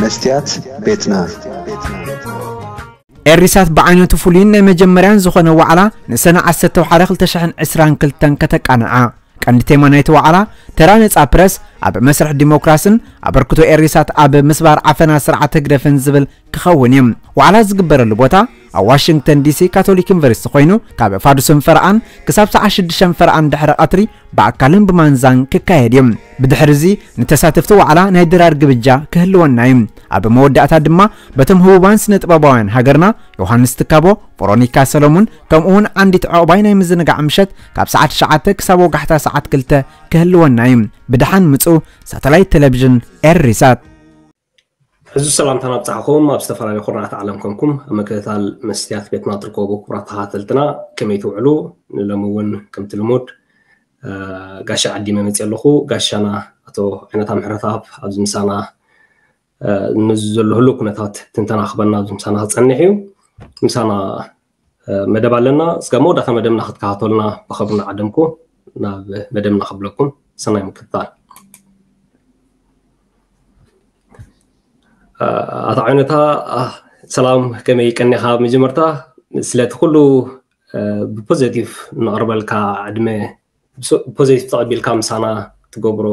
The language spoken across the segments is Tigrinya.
መስትያት ቤትና። ኤሪሳት ብዓይነቱ ፍሉይን ናይ መጀመርያን ዝኾነ ዋዕላ ንሰነ ዓሰርተ ወሓደ ክልተ ሽሕን ዕስራን ክልተን ከተቃንዓ ቀንዲ ቴማ ናይቲ ዋዕላ ተራ ነጻ ፕረስ ኣብ መስርሕ ዲሞክራስን ኣበርክቶ ኤሪሳት ኣብ ምስባር ዓፈና ስርዓት ህግደፍን ዝብል ክኸውን እዩ። ዋዕላ ዝግበረሉ ቦታ ኣብ ዋሽንግተን ዲሲ ካቶሊክ ዩኒቨርሲቲ ኮይኑ ካብ ፋዱስን ፈርኣን ክሳብ ሰዓት ሽዱሽተ ፈርኣን ድሕሪ ቀትሪ ብኣካልን ብማንዛን ክካየድ እዩ። ብድሕሪ እዚ ንተሳተፍቲ ዋዕላ ናይ ድራር ግብጃ ክህልወና እዩ። ኣብ መወዳእታ ድማ በቶም ህቡባን ስነ ጥበባውያን ሃገርና ዮሃንስ ትካቦ፣ ቨሮኒካ ሰሎሙን ከምኡ እውን ዓንዲት ዕቑባይ ናይ ምዝንጋዕ ምሸት ካብ ሰዓት ትሽዓተ ክሳብ ወጋሕታ ሰዓት ክልተ ክህልወና እዩ። ብደሓን ምጹ። ሳተላይት ቴሌቪዥን ኤሪሳት። ሕዚ ሰላምታና ኣብጻሕኹም ኣብ ዝተፈላለዩ ኩርናዓት ዓለም ኮንኩም ኣብ ምክትታል መስትያት ቤትና ትርከቡ ክቡራት ተኸታተልትና ከመይ ትውዕሉ? ንሎሚ እውን ከምቲ ልሙድ ጋሻ ዓዲመ መፅእ ኣለኹ። ጋሻና ኣቶ ዓይነታ ምሕረተኣብ ኣብዚ ምሳና ንዚ ዘሎ ህሉው ኩነታት ትንተና ክበና ኣብዚ ምሳና ክፀንሕ እዩ። ምሳና መደብ ኣለና። እስከ መወዳእታ መደብና ክትከታተሉና ብኸብሪ እናዓደምኩ ናብ መደብና ክብለኩም ሰናይ ምክትታል። ኣቶ ዓይነታ ሰላም፣ ከመይ ቀኒኻ? መጀመርታ ስለቲ ኩሉ ብፖዘቲቭ ንቕርበልካ ዕድመ ብፖዘቲቭ ተቐቢልካ ምሳና ትገብሮ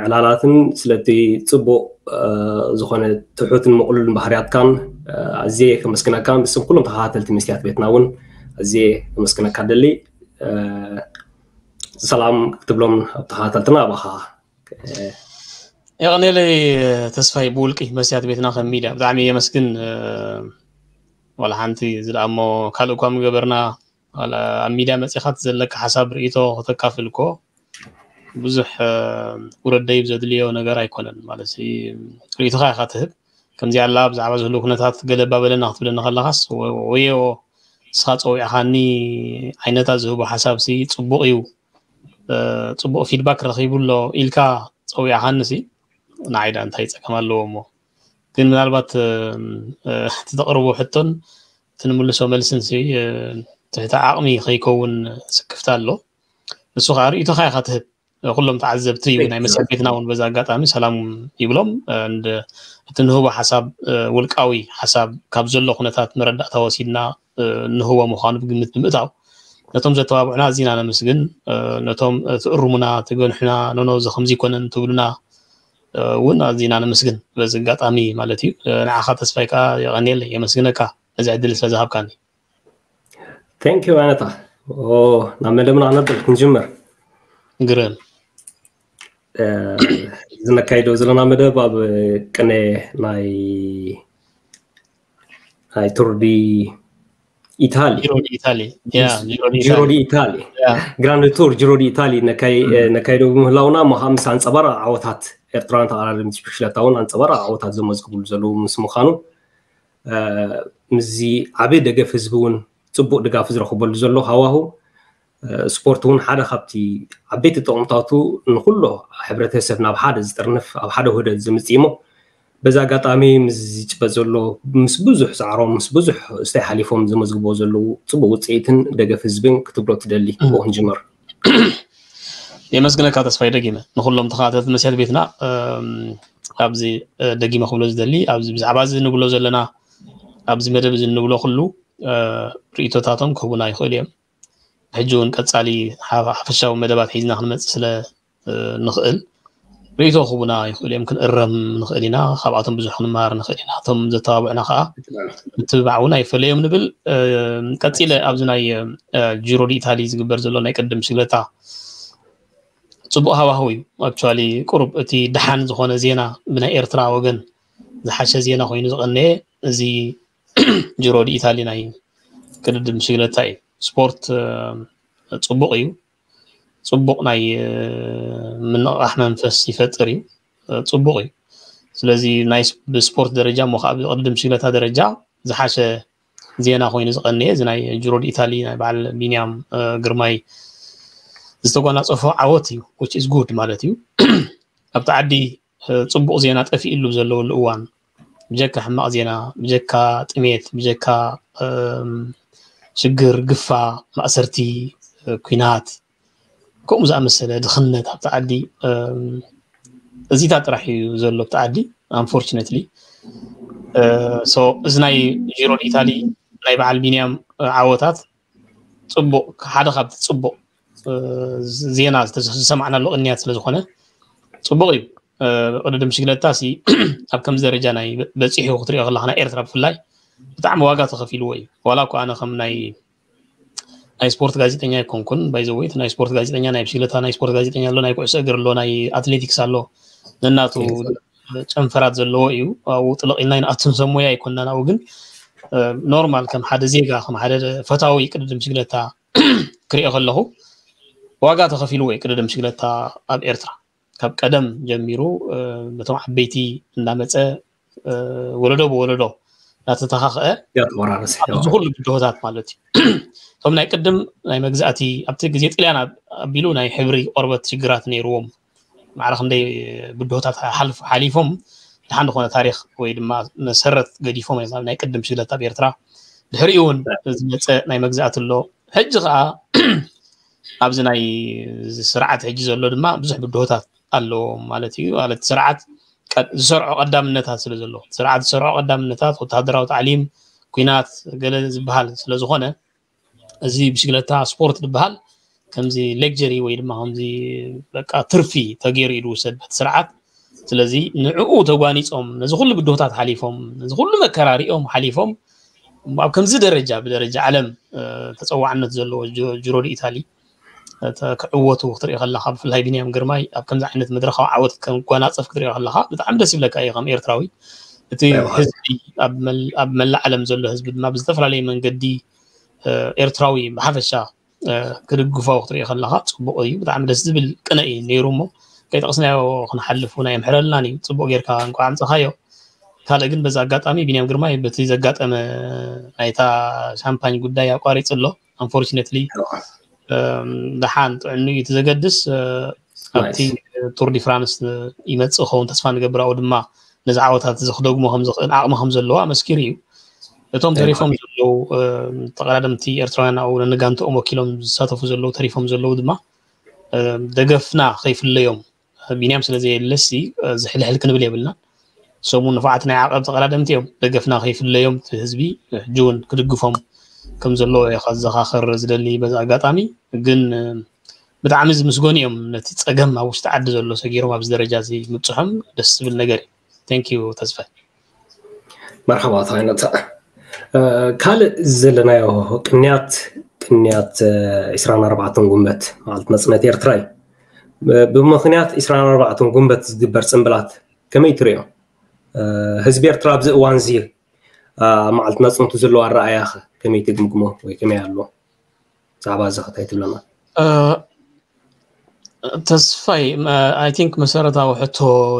ዕላላትን ስለቲ ጽቡቕ ዝኾነ ትሑትን ምቕሉልን ባህርያትካን ኣዝየ ከመስግነካን ብስም ኩሎም ተኸታተልቲ መስትያት ቤትና እውን ኣዝየ ከመስግነካ ደሊ። ሰላም ክትብሎም ኣብ ተኸታተልትና ኣባኻ። የቐኔለይ ተስፋይ ብውልቂ መስትያት ቤትና ከም ሚድያ ብጣዕሚ የመስግን። ዋላ ሓንቲ ዝለኣሞ ካልእ እኳ ምገበርና ኣብ ሚድያ መፂኻት ዘለካ ሓሳብ ርእቶ ከተካፍል እኮ ብዙሕ ውረደይብ ዘድልዮ ነገር ኣይኮነን። ማለት ርእቶኻ ኢኻ ትህብ። ከምዚ ኣላ ብዛዕባ ዝህሉ ኩነታት ገለ ባበለና ክትብለኒ ከለኻስ ወዮ ንስኻ ፀዊዕኻኒ ዓይነታ ዝህቦ ሓሳብ ሲ ፅቡቕ እዩ ፅቡቕ ፊድባክ ረኺቡ ኣሎ ኢልካ ፀዊዕኻኒ ሲ ንዓይ ዳ እንታይ ፀገም ኣለዎ እሞ ግን ምናልባት እቲ ተቕርቦ ሕቶን እቲ ንምልሶ መልስን ሲ ትሕቲ ዓቕሚ ከይከውን ስክፍታ ኣሎ። ንሱ ከዓ ርእይቶኻ ኢኻ ትህብ። ኩሎም ተዓዘብቲ እዩ ናይ መሰል ቤትና እውን በዛ ኣጋጣሚ ሰላም ይብሎም። እቲ ንህቦ ሓሳብ ውልቃዊ ሓሳብ ካብ ዘሎ ኩነታት መረዳእታ ወሲድና ንህቦ ምዃኑ ብግምት ብምእታው ነቶም ዘተባብዑና ኣዚና ነመስግን። ነቶም ትእርሙና፣ ትገንሑና፣ ኖኖ እዚ ከምዚ ይኮነን ትብሉና እውን ኣዚና ነመስግን በዚ ኣጋጣሚ ማለት እዩ። ንዓኻ ተስፋይ ከዓ የቐንየለይ፣ የመስግነካ ነዚ ዕድል ስለዝሃብካኒ። Thank you ኣነታ። ናብ መደብና ክነብል ክንጅምር ግርም ዝነካይዶ ዘለና መደብ ኣብ ቅነ ናይ ናይ ቱር ዲ ኢታሊ ጂሮ ዲ ኢታሊ ያ ጂሮ ዲ ጂሮ ኢታሊ ዲ ኢታሊ ያ ግራንድ ቱር ጂሮ ዲ ኢታሊ ነካይ ነካይዶ ብምህላውና እሞ ምስ ኣንፀባራቂ ዓወታት ኤርትራውያን ተቐዳደምቲ ብሽክለታ እውን ኣንፀባራቂ ዓወታት ዘመዝግብሉ ዘለዉ ምስ ምዃኑ ምስዚ ዓብዪ ደገፍ ህዝቢ እውን ፅቡቅ ድጋፍ ዝረኽበሉ ዘሎ ሃዋሁ ስፖርት እውን ሓደ ካብቲ ዓበይቲ ጥቕምታቱ ንኩሎ ሕብረተሰብ ናብ ሓደ ዝጥርንፍ ኣብ ሓደ ውህደት ዘምፅእ እሞ በዚ ኣጋጣሚ ምስ ዝጭበጥ ዘሎ ምስ ብዙሕ ፃዕሮም ምስ ብዙሕ እስታይ ሓሊፎም ዘመዝግቦ ዘለዉ ፅቡቅ ውፅኢትን ደገፍ ህዝብን ክትብሎ ትደሊ ብኡ ክንጅምር። የመስግነካ ተስፋይ ደጊመ ንኩሎም ተኸታተልቲ መስያት ቤትና ኣብዚ ደጊመ ክብሎ ዝደሊ ኣብዚ ብዛዕባ እዚ ንብሎ ዘለና ኣብዚ መደብ እዚ ንብሎ ኩሉ ርእቶታቶም ክህቡና ይኽእሉ እዮም። ሕጂ እውን ቀፃሊ ሓፈሻዊ መደባት ሒዝና ክንመፅእ ስለ ንኽእል ርእቶ ክህቡና ይኽእሉ እዮም። ክንእረም ንኽእል ኢና፣ ካብኣቶም ብዙሕ ክንመሃር ንኽእል ኢና። እቶም ዘተባብዑና ከዓ ምትብባዕ እውን ኣይፈለዮም ንብል። ቀፂለ ኣብዚ ናይ ጂሮ ዲ ኢታሊ ዝግበር ዘሎ ናይ ቅድም ሽግለታ ፅቡቅ ሃዋህው እዩ። ኣክቹዋሊ ቁሩብ እቲ ደሓን ዝኾነ ዜና ብናይ ኤርትራ ወገን ዝሓሸ ዜና ኮይኑ ዝቐነየ እዚ ጂሮ ዲ ኢታሊ ናይ ቅድድም ሽግለታ እዩ። ስፖርት ፅቡቅ እዩ። ፅቡቅ ናይ ምንቕቃሕ መንፈስ ይፈጥር እዩ። ፅቡቅ እዩ። ስለዚ ናይ ብስፖርት ደረጃ እሞ ከዓ ብቅድድም ሽግለታ ደረጃ ዝሓሸ ዜና ኮይኑ ዝቐነየ እዚ ናይ ጅሮ ዲ ኢታሊ ናይ በዓል ቢንያም ግርማይ ዝተጓናፀፎ ዓወት እዩ። Which is good ማለት እዩ። ኣብቲ ዓዲ ፅቡቕ ዜና ጠፊእሉ ዘለወሉ እዋን ብጀካ ሕማቕ ዜና፣ ብጀካ ጥሜት፣ ብጀካ ሽግር፣ ግፋ፣ ማእሰርቲ፣ ኲናት ከምኡ ዝኣመሰለ ድኽነት ኣብቲ ዓዲ እዚታት ጥራሕ እዩ ዘሎ ኣብቲ ዓዲ። Unfortunately, so እዚ ናይ ጂሮ ኢታሊ ናይ በዓል ቢንያም ዓወታት ጽቡቕ፣ ሓደ ካብቲ ጽቡቕ ዜና ዝሰማዕናሉ ቅንያት ስለ ዝኾነ ጽቡቕ እዩ። ቅድድም ብሽግለታ ሲ ኣብ ከምዚ ደረጃ ናይ በፂሑ ክትሪኦ ከለካ ናይ ኤርትራ ብፍላይ ብጣዕሚ ዋጋ ተኸፊልዎ እዩ። ዋላ እኮ ኣነ ከም ናይ ናይ ስፖርት ጋዜጠኛ ኣይኮንኩን። ባይዘወይ ናይ ስፖርት ጋዜጠኛ፣ ናይ ብሽግለታ ናይ ስፖርት ጋዜጠኛ ኣሎ፣ ናይ ኩዕሶ እግር ኣሎ፣ ናይ ኣትሌቲክስ ኣሎ። ነናቱ ጨንፈራት ዘለዎ እዩ። ኣብኡ ጥልቕ ኢልና ይንኣቱ፣ ሰብ ሞያ ኣይኮንናን። ኣብኡ ግን ኖርማል ከም ሓደ ዜጋ፣ ከም ሓደ ፈታዊ ቅድድም ብሽግለታ ክሪኦ ከለኹ ዋጋ ተኸፊልዎ እዩ ቅድድም ብሽግለታ ኣብ ኤርትራ። ካብ ቀደም ጀሚሩ በቶም ዓበይቲ እናመፀ ወለዶ ብወለዶ እናተተኻኸአ እዚ ኩሉ ብድሆታት ማለት እዩ። እቶም ናይ ቅድም ናይ መግዛእቲ ኣብቲ ግዜ ጥልያን ኣቢሉ ናይ ሕብሪ ቆርበት ሽግራት ነይርዎም። ማዕረ ክንደይ ብድሆታት ሓሊፎም ድሓን ዝኾነ ታሪኽ ወይ ድማ መሰረት ገዲፎም እዮም። ናይ ቅድም ሽግለት ኣብ ኤርትራ ድሕሪኡ እውን ዝመፀ ናይ መግዛእቲ ኣሎ። ሕጂ ከዓ ኣብዚ ናይ ስርዓት ሕጂ ዘሎ ድማ ብዙሕ ብድሆታት ኣለዎ ማለት እዩ። ማለት ስርዓት ዝሰርዖ ቀዳምነታት ስለ ዘሎ፣ ስርዓት ዝሰርዖ ቀዳምነታት፣ ወተሃደራዊ ታዕሊም፣ ኩናት፣ ገለ ዝበሃል ስለ ዝኾነ፣ እዚ ብሽግለታ ስፖርት ዝበሃል ከምዚ ሌክጀሪ ወይ ድማ ከምዚ በቃ ትርፊ ተገይሩ እዩ ዝውሰድ በቲ ስርዓት። ስለዚ ንዕኡ ተጓኒፆም ነዚ ኩሉ ብድሆታት ሓሊፎም ነዚ ኩሉ መከራ ሪኦም ሓሊፎም ኣብ ከምዚ ደረጃ ብደረጃ ዓለም ተፀዋዕነት ዘለዎ ጅሮ ዲኢታሊ ክዕወቱ ክትሪኦ ከለካ ብፍላይ ቢንያም ግርማይ ኣብ ከምዚ ዓይነት መድረካዊ ዓወት ከጓናፀፍ ክትሪኦ ከለካ ብጣዕሚ ደስ ይብለካ እዩ ከም ኤርትራዊ። እቲ ህዝቢ ኣብ መላእ ዓለም ዘሎ ህዝቢ ድማ ብዝተፈላለየ መንገዲ ኤርትራዊ ብሓፈሻ ክድግፎ ክትሪኦ ከለካ ፅቡቅ እዩ። ብጣዕሚ ደስ ዝብል ቅነ እዩ ነይሩ እሞ ከይጠቅስናዮ ክንሓልፍ ናይ የምሕረልናን እዩ። ፅቡቅ ጌርካ እንኳዕ ኣምፀኻዮ። ካልእ ግን በዚ ኣጋጣሚ ቢንያም ግርማይ በቲ ዘጋጠመ ናይታ ሻምፓኝ ጉዳይ ኣቋሪፁ ኣሎ። Unfortunately ደሓን ጥዕኑ እዩ እቲ ዘገድስ። ኣብቲ ቱር ዲ ፍራንስ ይመፅእ ክኸውን ተስፋ ንገብር። ኣብኡ ድማ ነዚ ዓወታት እዚ ክደግሞ ከምዝኽእል ዓቕሚ ከም ዘለዎ ኣመስኪሩ እዩ። እቶም ተሪፎም ዘለዉ ተቐዳደምቲ ኤርትራውያን ኣብኡ ነንጋንትኦም ወኪሎም ዝሳተፉ ዘለዉ ተሪፎም ዘለዉ ድማ ደገፍና ከይፍለዮም ቢንያም ስለ ዘየለሲ ዝሕልሕል ክንብል የብልናን። ሰሙ ንፉዓት ናይ ዓቐብ ተቐዳደምቲ እዮም። ደገፍና ከይፍለዮም እቲ ህዝቢ ሕጂ እውን ክድግፎም ከም ዘለዎ እየ ከዘኻኽር ዝደሊ በዚ ኣጋጣሚ። ግን ብጣዕሚ ዝምስገኑ እዮም ነቲ ፀገም ኣብ ውሽጢ ዓዲ ዘሎ ሰጊሮም ኣብዚ ደረጃ እዚ ምብፅሖም ደስ ዝብል ነገር እዩ። Thank you ተስፋ። መርሓባ ተኸይነታ ካልእ ዘለናዮ ቅንያት ቅንያት ዕስራን ኣርባዕተን ጉንበት ማለት መፅነት ኤርትራ እዩ። ብምኽንያት ዕስራን ኣርባዕተን ጉንበት ዝግበር ፅምብላት ከመይ ትሪኦ? ህዝቢ ኤርትራ ኣብዚ እዋን እዚ መዓልቲ ናፅነቱ ዘለዎ ኣረኣእያ ከ ከመይ ትግምግሞ ወይ ከመይ ኣሎ? ብዛዕባ እዚ ከታይ ትብለና? ተስፋይ፣ I think መሰረታዊ ሕቶ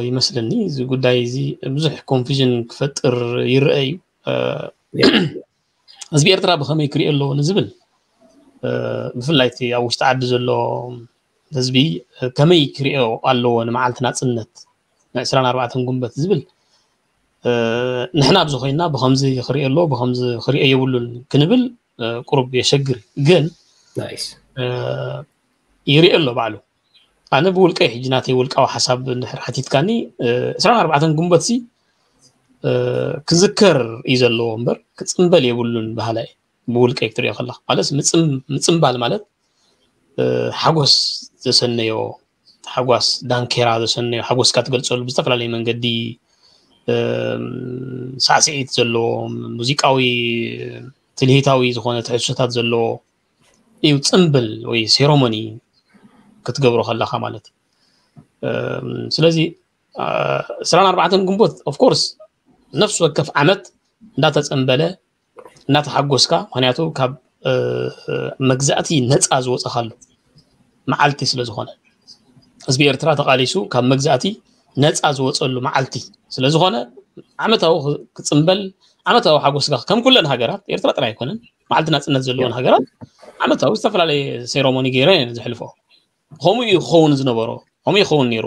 ይመስለኒ። እዚ ጉዳይ እዚ ብዙሕ ኮንፊዥን ክፈጥር ይረአ እዩ። ህዝቢ ኤርትራ ብኸመይ ክሪኦ ኣለዎ ንዝብል ብፍላይ እቲ ኣብ ውሽጢ ዓዲ ዘሎ ህዝቢ ከመይ ክሪኦ ኣለዎ ንመዓልቲ ናፅነት ንዕስራን ኣርባዕተን ጉንበት ዝብል ንሕና ኣብዚ ኮይና ብኸምዚ ክሪኦ ኣለዎ ብኸምዚ ክሪኦ የብሉን ክንብል ቁሩብ የሸግር ግን ይሪኦ ኣሎ ባዕሉ። ኣነ ብውልቀይ ሕጂ ናተይ ውልቃዊ ሓሳብ እንድሕር ሓቲትካኒ ዕስራን ኣርባዕተን ጉንበት ሲ ክዝከር እዩ ዘለዎ እምበር ክፅምበል የብሉን በሃላይ። ብውልቀይ ክትሪኦ ከለካ ማለት ምፅምባል ማለት ሓጎስ ዘሰነዮ ሓጓስ ዳንኬራ ዘሰነዮ ሓጎስካ ትገልፀሉ ብዝተፈላለየ መንገዲ ሳዕስዒት ዘለዎ ሙዚቃዊ ትልሂታዊ ዝኾነ ትሕዝቶታት ዘለዎ እዩ ፅምብል ወይ ሴሮሞኒ ክትገብሮ ከለካ ማለት። ስለዚ ዕስራን ኣርባዕተን ግንቦት of course ነፍሲ ወከፍ ዓመት እንዳተፀምበለ እናተሓጎስካ ምክንያቱ ካብ መግዛእቲ ነፃ ዝወፀካሉ መዓልቲ ስለዝኾነ ህዝቢ ኤርትራ ተቃሊሱ ካብ መግዛእቲ ነፃ ዝወፀሉ መዓልቲ ስለዝኾነ ዓመታዊ ክፅምበል ዓመታዊ ሓጎስካ ከም ኩለን ሃገራት ኤርትራ ጥራይ ኣይኮነን መዓልቲ ናፅነት ዘለዎን ሃገራት ዓመታዊ ዝተፈላለየ ሴሮሞኒ ገይረን እየን ዘሕልፎ። ከምኡ እዩ ክኸውን ዝነበሮ። ከምኡ ይኸውን ነይሩ።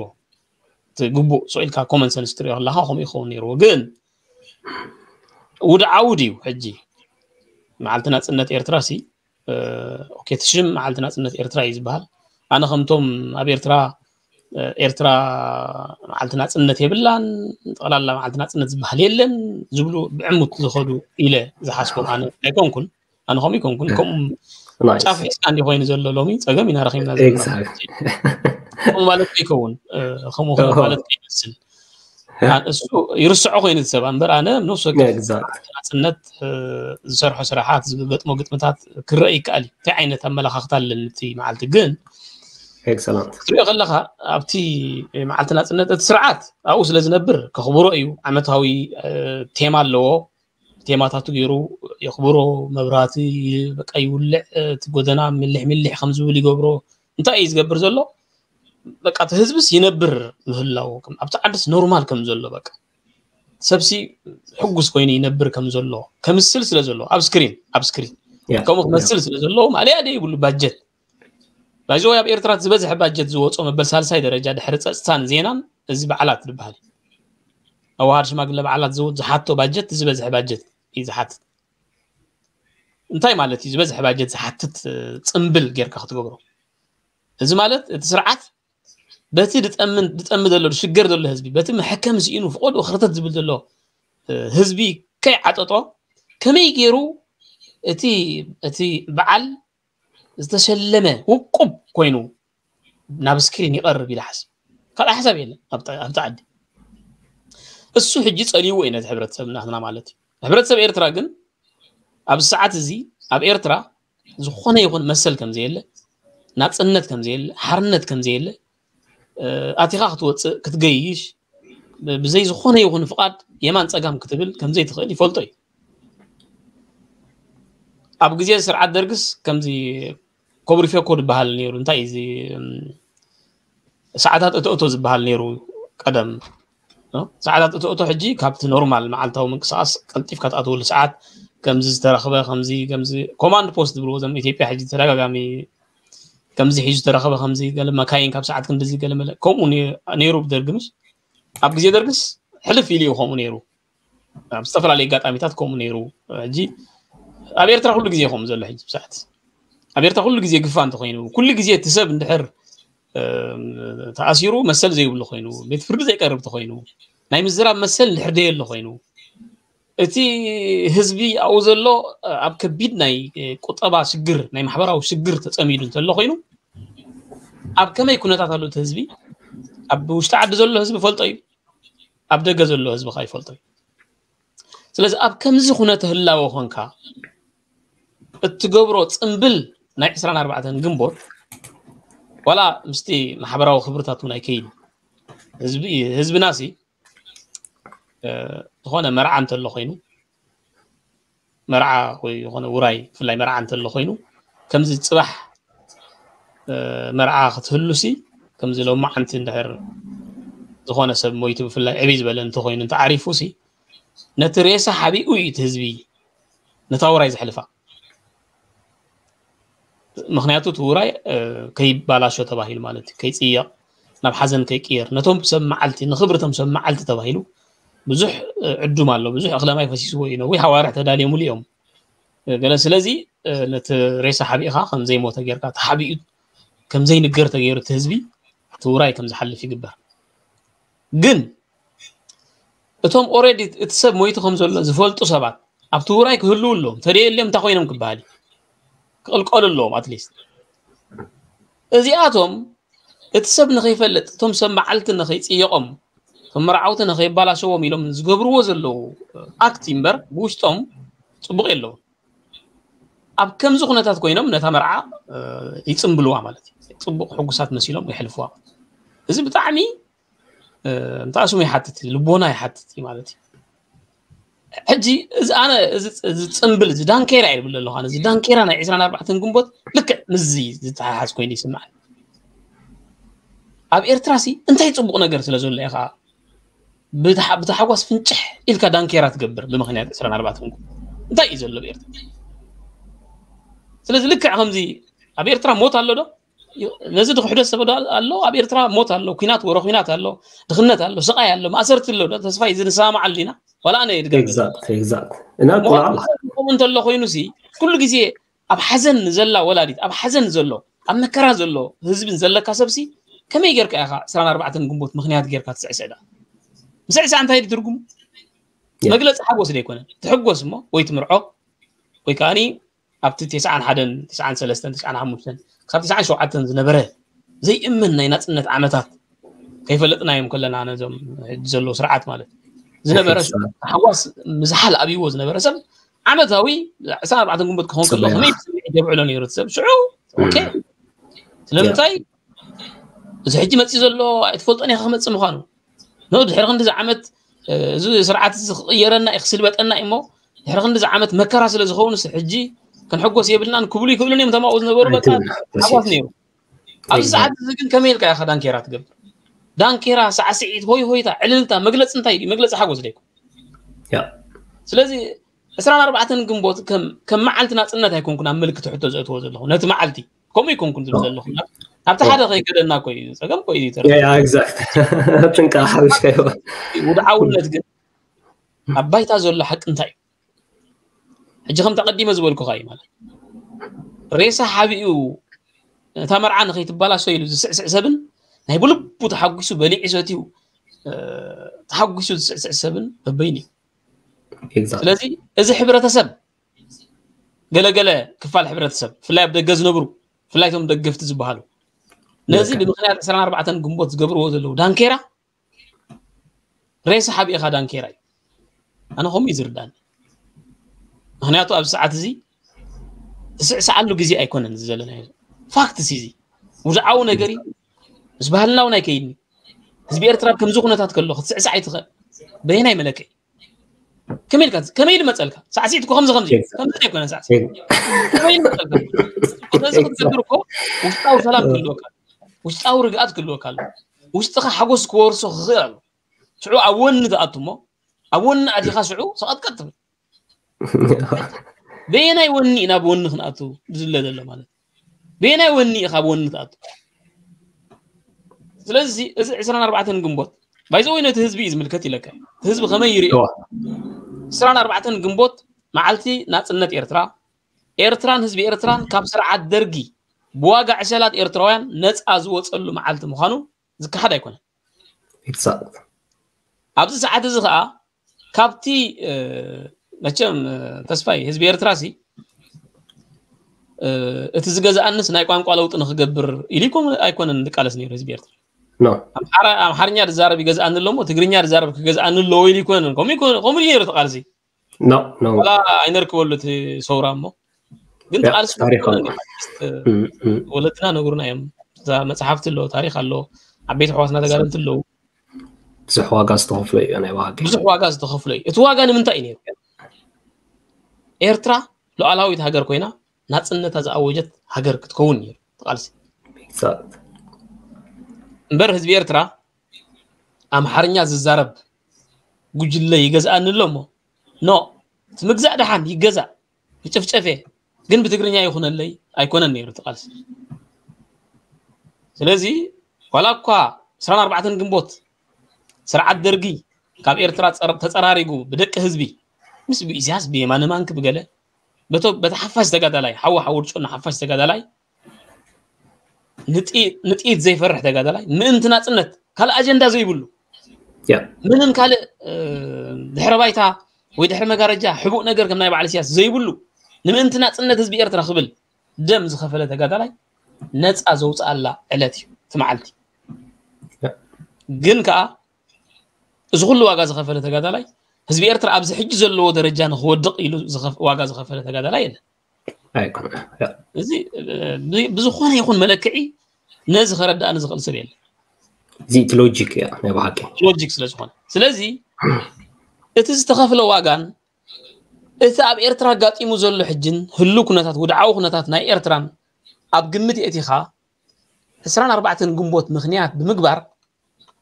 እቲ ግቡእ ስቕ ኢልካ ኮመን ሰንስ ትሪኦ ከለካ ከምኡ ይኸውን ነይርዎ። ግን ውድዓዊ ድዩ ሕጂ መዓልቲ ናፅነት ኤርትራ ሲ ኦኬ እቲ ሽም መዓልቲ ናፅነት ኤርትራ እዩ ዝበሃል። ኣነ ከምቶም ኣብ ኤርትራ ኤርትራ መዓልቲ ናፅነት የብላን፣ ጠቕላላ መዓልቲ ናፅነት ዝበሃል የለን ዝብሉ ብዕሙት ዝኸዱ ኢለ ዝሓስቦም ኣነ ኣይኮንኩን። ኣነ ከምኡ ኣይኮንኩን። ከምኡ ጫፍ ሒዝካ እንዲ ኮይኑ ዘሎ ሎሚ ፀገም ኢና ረኺብና ዘለና ከምኡ ማለት ከይከውን፣ ከምኡ ማለት ከይመስል እሱ ይርስዖ ኮይኑ ዝሰብ እምበር ኣነ ነፍሲ ወከፍ ናፅነት ዝሰርሖ ስራሓት ዝገጥሞ ግጥምታት ክረአ ይከኣል እዩ። እንታይ ዓይነት ኣመለኻኽታ ኣለኒ እቲ መዓልቲ ግን ክትሪኦ ከለኻ ኣብቲ መዓልቲ ናፅነት እቲ ስርዓት ኣብኡ ስለ ዝነብር ከኽብሮ እዩ። ዓመታዊ ቴማ ኣለዎ። ቴማታቱ ገይሩ የኽብሮ። መብራህቲ በቃ ይውልዕ፣ እቲ ጎደና ሚልሕ ሚልሕ ከም ዝብል ይገብሮ። እንታይ እዩ ዝገብር ዘሎ? በቃ እቲ ህዝብስ ይነብር ምህላው ኣብቲ ዓድስ ኖርማል ከም ዘሎ በቃ ሰብሲ ሕጉስ ኮይኑ ይነብር ከም ዘሎ ከምስል ስለ ዘሎ ኣብ ስክሪን ኣብ ስክሪን ከምኡ ክመስል ስለ ዘለዎ ማለያ ደ ይብሉ ባጀት ናይዚ ኣብ ኤርትራ ዝበዝሐ ባጀት ዝወፆ መበል ሳልሳይ ደረጃ ድሕሪ ፀፅታን ዜናን እዚ በዓላት ዝበሃል ኣዋሃድ ሽማግለ በዓላት ዝሓቶ ባጀት ዝበዝሐ ባጀት እዩ ዝሓትት። እንታይ ማለት እዩ ዝበዝሐ ባጀት ዝሓትት? ፅምብል ጌርካ ክትገብሮ እዚ ማለት እቲ ስርዓት በቲ ድጠሚ ዘሎ ሽገር ዘሎ ህዝቢ በቲ መሐከም ስኢኑ ፍቆድኡ ክርተት ዝብል ዘሎ ህዝቢ ከይዓጠጦ ከመይ ገይሩ እቲ እቲ በዓል ዝተሸለመ ውቁብ ኮይኑ ናብ ስክሪን ይቐርብ ኢለ ሓስብ። ካልእ ሓሳብ የለን ኣብቲ ዓዲ። እሱ ሕጂ ጸልይዎ እዩ ነቲ ሕብረተሰብ ናትና ማለት እዩ። ሕብረተሰብ ኤርትራ ግን ኣብዚ ሰዓት እዚ ኣብ ኤርትራ ዝኾነ ይኹን መሰል ከም ዘየለ፣ ናጽነት ከም ዘየለ፣ ሓርነት ከም ዘየለ፣ ኣቲኻ ክትወጽእ ክትገይሽ ብዘይ ዝኾነ ይኹን ፍቓድ የማን ጸጋም ክትብል ከም ዘይትኽእል ይፈልጦ እዩ። ኣብ ግዜ ስርዓት ደርግስ ከምዚ ኮብሪፌኮ ዝበሃል ነይሩ። እንታይ እዚ ሰዓታት እቶ እቶ ዝበሃል ነይሩ ቀደም ሰዓታት እቶ እቶ ሕጂ ካብቲ ኖርማል መዓልታዊ ምንቅስቃስ ቀልጢፍካ ትኣትወሉ ሰዓት ከምዚ ዝተረኽበ ከምዚ ከምዚ ኮማንድ ፖስት ዝብልዎ ዘም ኢትዮጵያ ሕጂ ተደጋጋሚ ከምዚ ሒዙ ዝተረኸበ ከምዚ ገለ መካይን ካብ ሰዓት ክንድዚ ገለ መለ ከምኡ ነይሩ ብደርግምሽ ኣብ ግዜ ደርግስ ሕልፍ ኢሉ እዩ ከምኡ ነይሩ። ኣብ ዝተፈላለዩ ኣጋጣሚታት ከምኡ ነይሩ። ሕጂ ኣብ ኤርትራ ኩሉ ግዜ ከምኡ ዘሎ ሕጂ ብሰዓት ኣብ ኤርትራ ኩሉ ግዜ ግፋ እንተኮይኑ ኩሉ ግዜ እቲ ሰብ እንድሕር ተኣሲሩ መሰል ዘይብሉ ኮይኑ ቤት ፍርዲ ዘይቀርብ ተኮይኑ ናይ ምዝራብ መሰል እንድሕር ደየሎ ኮይኑ እቲ ህዝቢ ኣብኡ ዘሎ ኣብ ከቢድ ናይ ቁጠባ ሽግር ናይ ማሕበራዊ ሽግር ተፀሚዱ እንተሎ ኮይኑ ኣብ ከመይ ኩነታት ኣሎ እቲ ህዝቢ ኣብ ውሽጢ ዓዲ ዘሎ ህዝቢ ፈልጦ እዩ ኣብ ደገ ዘሎ ህዝቢ ከ ይፈልጦ እዩ። ስለዚ ኣብ ከምዚ ኩነተ ህላወ ኮንካ እትገብሮ ጽምብል ናይ ዕስራን ኣርባዕተን ግንቦት ዋላ ምስቲ ማሕበራዊ ክብርታት እውን ኣይከይድ ህዝብና ሲ ዝኾነ መርዓ እንተሎ ኮይኑ መርዓ ወይ ዝኾነ ውራይ ብፍላይ መርዓ እንተሎ ኮይኑ ከምዚ ጽባሕ መርዓ ክትህሉ ሲ ከምዚ ሎማዓንቲ እንድሕር ዝኾነ ሰብ ሞይቱ ብፍላይ ዕብይ ዝበለ እንተኮይኑ እንተዓሪፉ ሲ ነቲ ሬሳ ሓቢኡ እዩ እቲ ህዝቢ ነታ ውራይ ዘሕልፋ። ምክንያቱ እቲ ውራይ ከይባላሾ ተባሂሉ ማለት እዩ፣ ከይፅየቕ ናብ ሓዘን ከይቅየር ነቶም ሰብ መዓልቲ ንክብርቶም ሰብ መዓልቲ ተባሂሉ ብዙሕ ዕዱም ኣሎ፣ ብዙሕ እኽለ ማይ ፈሲስዎ እዩ፣ ነዊሕ ኣዋርሕ ተዳልዮምሉ እዮም። ገለ ስለዚ ነቲ ሬሳ ሓቢእኻ ከም ዘይሞተ ጌርካ ተሓቢኡ ከም ዘይንገር ተገይሩ እቲ ህዝቢ እቲ ውራይ ከም ዝሓልፍ ይግበር። ግን እቶም ኦሬዲ እቲ ሰብ ሞይቱ ከም ዘሎ ዝፈልጡ ሰባት ኣብቲ ውራይ ክህልው ኣለዎም። ተደየልዮም እንታይ ኮይኖም ክበሃል እዩ? ክቕልቀሉ ኣለዎም ኣትሊስት። እዚኣቶም እቲ ሰብ ንኸይፈልጥ እቶም ሰብ መዓልቲ ንኸይፅየቖም እቶም መርዓውቲ ንኸይባላሸዎም ኢሎም ዝገብርዎ ዘለዉ ኣክት እምበር ብውሽጦም ፅቡቕ የለውን። ኣብ ከምዚ ኩነታት ኮይኖም ነታ መርዓ ይፅምብልዋ ማለት እዩ። ፅቡቕ ሕጉሳት መሲሎም የሕልፍዋ። እዚ ብጣዕሚ እንታይ ስሙ ይሓትት እዩ፣ ልቦና ይሓትት እዩ ማለት እዩ። ሕጂ እዚ ኣነ እዚ ፅምብል እዚ ዳንኬራ ይብል ኣለኹ። ኣነ እዚ ዳንኬራ ናይ ዕስራን ኣርባዕተን ግንቦት ልክዕ ምስዚ ዝተሓሓዝ ኮይኑ ይስምዓኒ። ኣብ ኤርትራ ሲ እንታይ ፅቡቕ ነገር ስለ ዘሎ ኢኻ ብታሓጓስ ፍንጭሕ ኢልካ ዳንኬራ ትገብር ብምክንያት ዕስራን ኣርባዕተን እንታይ እዩ ዘሎ ብኤርትራ? ስለዚ ልክዕ ከምዚ ኣብ ኤርትራ ሞት ኣሎ ዶ? ነዚ ድክሕዶ ሰብ ኣሎ? ኣብ ኤርትራ ሞት ኣሎ፣ ኩናት ወረ ኩናት ኣሎ፣ ድኽነት ኣሎ፣ ስቃይ ኣሎ፣ ማእሰርቲ ኣሎ ዶ? ተስፋ እዩ ንሰማማዓሉ ኢና ዋላ ኣነ ይድገም ከምኡ እንተሎ ኮይኑ ሲ ኩሉ ግዜ ኣብ ሓዘን ንዘላ ወላዲት ኣብ ሓዘን ዘሎ ኣብ መከራ ዘሎ ህዝብን ዘለካ ሰብሲ ከመይ ጌርካ ኢኻ ዕስራን ኣርባዕተን ግንቦት ምኽንያት ጌርካ ትስዕስዕ ደኣ? ምስዕሳዕ እንታይ ድዩ ትርጉሙ? መግለፂ ሓጎስ ዶ ኣይኮነን? ትሕጎስ እሞ ወይ ትምርዖ ወይ ከዓኒ ኣብቲ ተስዓን ሓደን፣ ተስዓን ሰለስተን፣ ተስዓን ሓሙሽተን ክሳብ ተስዓን ሸውዓተን ዝነበረ ዘይእመን ናይ ናፅነት ዓመታት ከይፈለጥናዮም ከለና ነዞም ሕጂ ዘለዉ ስርዓት ማለት ዝነበረ ታሕጓስ ምዝሓል ኣብይዎ ዝነበረ ሰብ ዓመታዊ ዕስራን ኣርባዕተን ግንቦት ክኸውን ከሎ ከመይ ስምዒት የብዕሎ ነይሩ እቲ ሰብ ሽዑ ኦኬ ስለምንታይ እዚ ሕጂ መፅእ ዘሎ ኣይትፈልጦን ኢኻ ክመፅእ ምዃኑ ኖ ድሕሪ ክንዲ ዝዓመት እዚ ስርዓት እዚ ክቕየረና እዩ ክስልበጠና እዩ እሞ ድሕሪ ክንዲ ዝዓመት መከራ ስለ ዝኸውን ስ ሕጂ ክንሕጎስ የብልናን ክብሉ ይክእሉን እዮም ተማኡ ዝነበሩ በቃ ሓጓስ ነይሩ ኣብዚ ሰዓት እዚ ግን ከመይ ኢልካ ኢኻ ዳንኬራ ትገብር ዳንኬራ ሳዕስዒት ሆይ ሆይታ ዕልልታ መግለፂ እንታይ እዩ መግለፂ ሓጎስ ደይኮ ስለዚ ዕስራን ኣርባዕተን ግንቦት ከም መዓልቲ ናፅነት ኣይኮንኩን ኣብ ምልክት ሕቶ ዘእትዎ ዘለኹ ነቲ መዓልቲ ከምኡ ይኮንኩን ዝብል ዘለኹ ኣብቲ ሓደ ከይከደና ኮ እዩ ፀገም ኮ እዩ ተረ ጥንቃ ሓብሽ ከይዋ ውድዓውነት ግን ኣብ ባይታ ዘሎ ሓቂ እንታይ እዩ ሕጂ ከም ተቐዲመ ዝበልኩኻ እዩ ማለት ሬሳ ሓቢኡ እታ መርዓ ንኸይትባላሶ ኢሉ ዝስዕስዕ ሰብን ናይ ብልቡ ተሓጒሱ በሊዑ ሰትዩ ተሓጒሱ ዝስዕስዕ ሰብን በበይኑ እዩ ስለዚ እዚ ሕብረተሰብ ገለገለ ክፋል ሕብረተሰብ ብፍላይ ኣብ ደገ ዝነብሩ ብፍላይ ቶም ደገፍቲ ዝበሃሉ ነዚ ብምክንያት ዕስራን ኣርባዕተን ግንቦት ዝገብርዎ ዘለዉ ዳንኬራ ሬሳ ሓቢእኻ ዳንኬራ እዩ ኣነ ከምኡ እዩ ዝርዳኒ ምክንያቱ ኣብዚ ሰዓት እዚ ትስዕስዓሉ ግዜ ኣይኮነን እዚ ዘለናዮ ፋክትስ እዚ ውድዓዊ ነገር እዩ ምስ ባህልና እውን ኣይከይድኒ ህዝቢ ኤርትራ ከምዚ ኩነታት ከሎ ክትስዕሳዕ ኣይትኽእል በየናይ መለክዒ ከመይ ኢልካ ከመይ ኢሉ መፀልካ ሳዕሲዕት እኮ ከምዚ ከምዚ ከምዚ ኣይኮነ ሳዕሲዕት ከመይ ኢሉ መፀልካ ስለዚ ክትገብር እኮ ውሽጣዊ ሰላም ክህልወካ ውሽጣዊ ርግኣት ክህልወካ ኣሎ ውሽጥኻ ሓጎስ ክወርሶ ክኽእል ኣሎ ሽዑ ኣብ ወኒ ትኣቱ እሞ ኣብ ወኒ ኣቲኻ ሽዑ ሰቐጥቀጥ ትብል በየናይ ወኒ ናብ ወኒ ክንኣቱ ዝለ ዘሎ ማለት በየናይ ወኒ ኢኻ ኣብ ወኒ ትኣቱ ስለዚ እዚ ዕስራን ኣርባዕተን ግንቦት ባይዘወይ ነቲ ህዝቢ እዩ ዝምልከት ኢለካ ህዝቢ ከመይ ይሪኦ ዕስራን ኣርባዕተን ግንቦት መዓልቲ ናፅነት ኤርትራ ኤርትራን ህዝቢ ኤርትራን ካብ ስርዓት ደርጊ ብዋጋ ዕሸላት ኤርትራውያን ነፃ ዝወፀሉ መዓልቲ ምዃኑ ዝከሓድ ኣይኮነን ኣብዚ ሰዓት እዚ ከዓ ካብቲ መቸም ተስፋይ ህዝቢ ኤርትራ ሲ እቲ ዝገዝኣንስ ናይ ቋንቋ ለውጢ ንክገብር ኢሉ ኣይኮነን ዝቃለስ ነይሩ ህዝቢ ኤርትራ ኣምሓርኛ ዝዛረብ ይገዝኣኒ ኣለሞ ትግርኛ ዝዛረብ ክገዝኣኒ ኣለዎ ኢሉ ይኮነን ከምኡ ነይሩ ተቃልሲ ዋላ ኣይነርክበሉ እቲ ሰውራ እሞ ግን ተቃልሲ ወለድና ነግሩና እዮም እዛ መፅሓፍቲ ኣሎ ታሪክ ኣሎ ዓበይቲ ኣሕዋትና ተጋደልቲ ኣለዉ ብዙሕ ዋጋ ዝተኸፍሎ እዩ ናይ ዋጋ ብዙሕ ዋጋ ዝተኸፍሎ እዩ እቲ ዋጋ ንምንታይ እዩ ነይሩ ኤርትራ ሉዓላዊት ሃገር ኮይና ናፅነታ ዝኣወጀት ሃገር ክትከውን ነይሩ ተቃልሲ እምበር ህዝቢ ኤርትራ ኣምሓርኛ ዝዛረብ ጉጅለ ይገዝኣኒ ኣሎ እሞ ኖ እቲ ምግዛእ ደሓን ይገዛእ ይጭፍጨፍ እየ ግን ብትግርኛ ይኹነለይ ኣይኮነን ነይሩ እቲ ቃልሲ ስለዚ ዋላ እኳ ዕስራን ኣርባዕተን ግንቦት ስርዓት ደርጊ ካብ ኤርትራ ተፀራሪጉ ብደቂ ህዝቢ ምስ ብኢሳያስ ብየማነ ማንክ ብገለ በቲ ሓፋሽ ተጋዳላይ ሓዊ ሓውርጮ ሓፋሽ ተጋዳላይ ንጥይት ዘይፈርሕ ተጋዳላይ ምእንቲ ናፅነት ካልእ ኣጀንዳ ዘይብሉ ምንም ካልእ ድሕረ ባይታ ወይ ድሕሪ መጋረጃ ሕቡእ ነገር ከም ናይ በዓል ኢሳያስ ዘይብሉ ንምእንቲ ናፅነት ህዝቢ ኤርትራ ክብል ደም ዝኸፈለ ተጋዳላይ ነፃ ዘውፅኣላ ዕለት እዩ እቲ መዓልቲ ግን ከዓ እዚ ኩሉ ዋጋ ዝኸፈለ ተጋዳላይ ህዝቢ ኤርትራ ኣብዚ ሕጂ ዘለዎ ደረጃ ንክወድቕ ኢሉ ዋጋ ዝኸፈለ ተጋዳላይ የለን ኣይኮነ እዚ ብዝኾነ ይኹን መለክዒ ነዚ ከረዳእኒ ዝኽእል ሰብ የለን እዚ እቲ ሎጂክ እያ ናይ ብሓቂ ሎጂክ ስለ ዝኾነ ስለዚ እቲ ዝተኸፍለ ዋጋን እቲ ኣብ ኤርትራ ኣጋጢሙ ዘሎ ሕጅን ህሉ ኩነታት ውድዓዊ ኩነታት ናይ ኤርትራን ኣብ ግምት የእቲኻ ዕስራን ኣርባዕተን ግንቦት ምኽንያት ብምግባር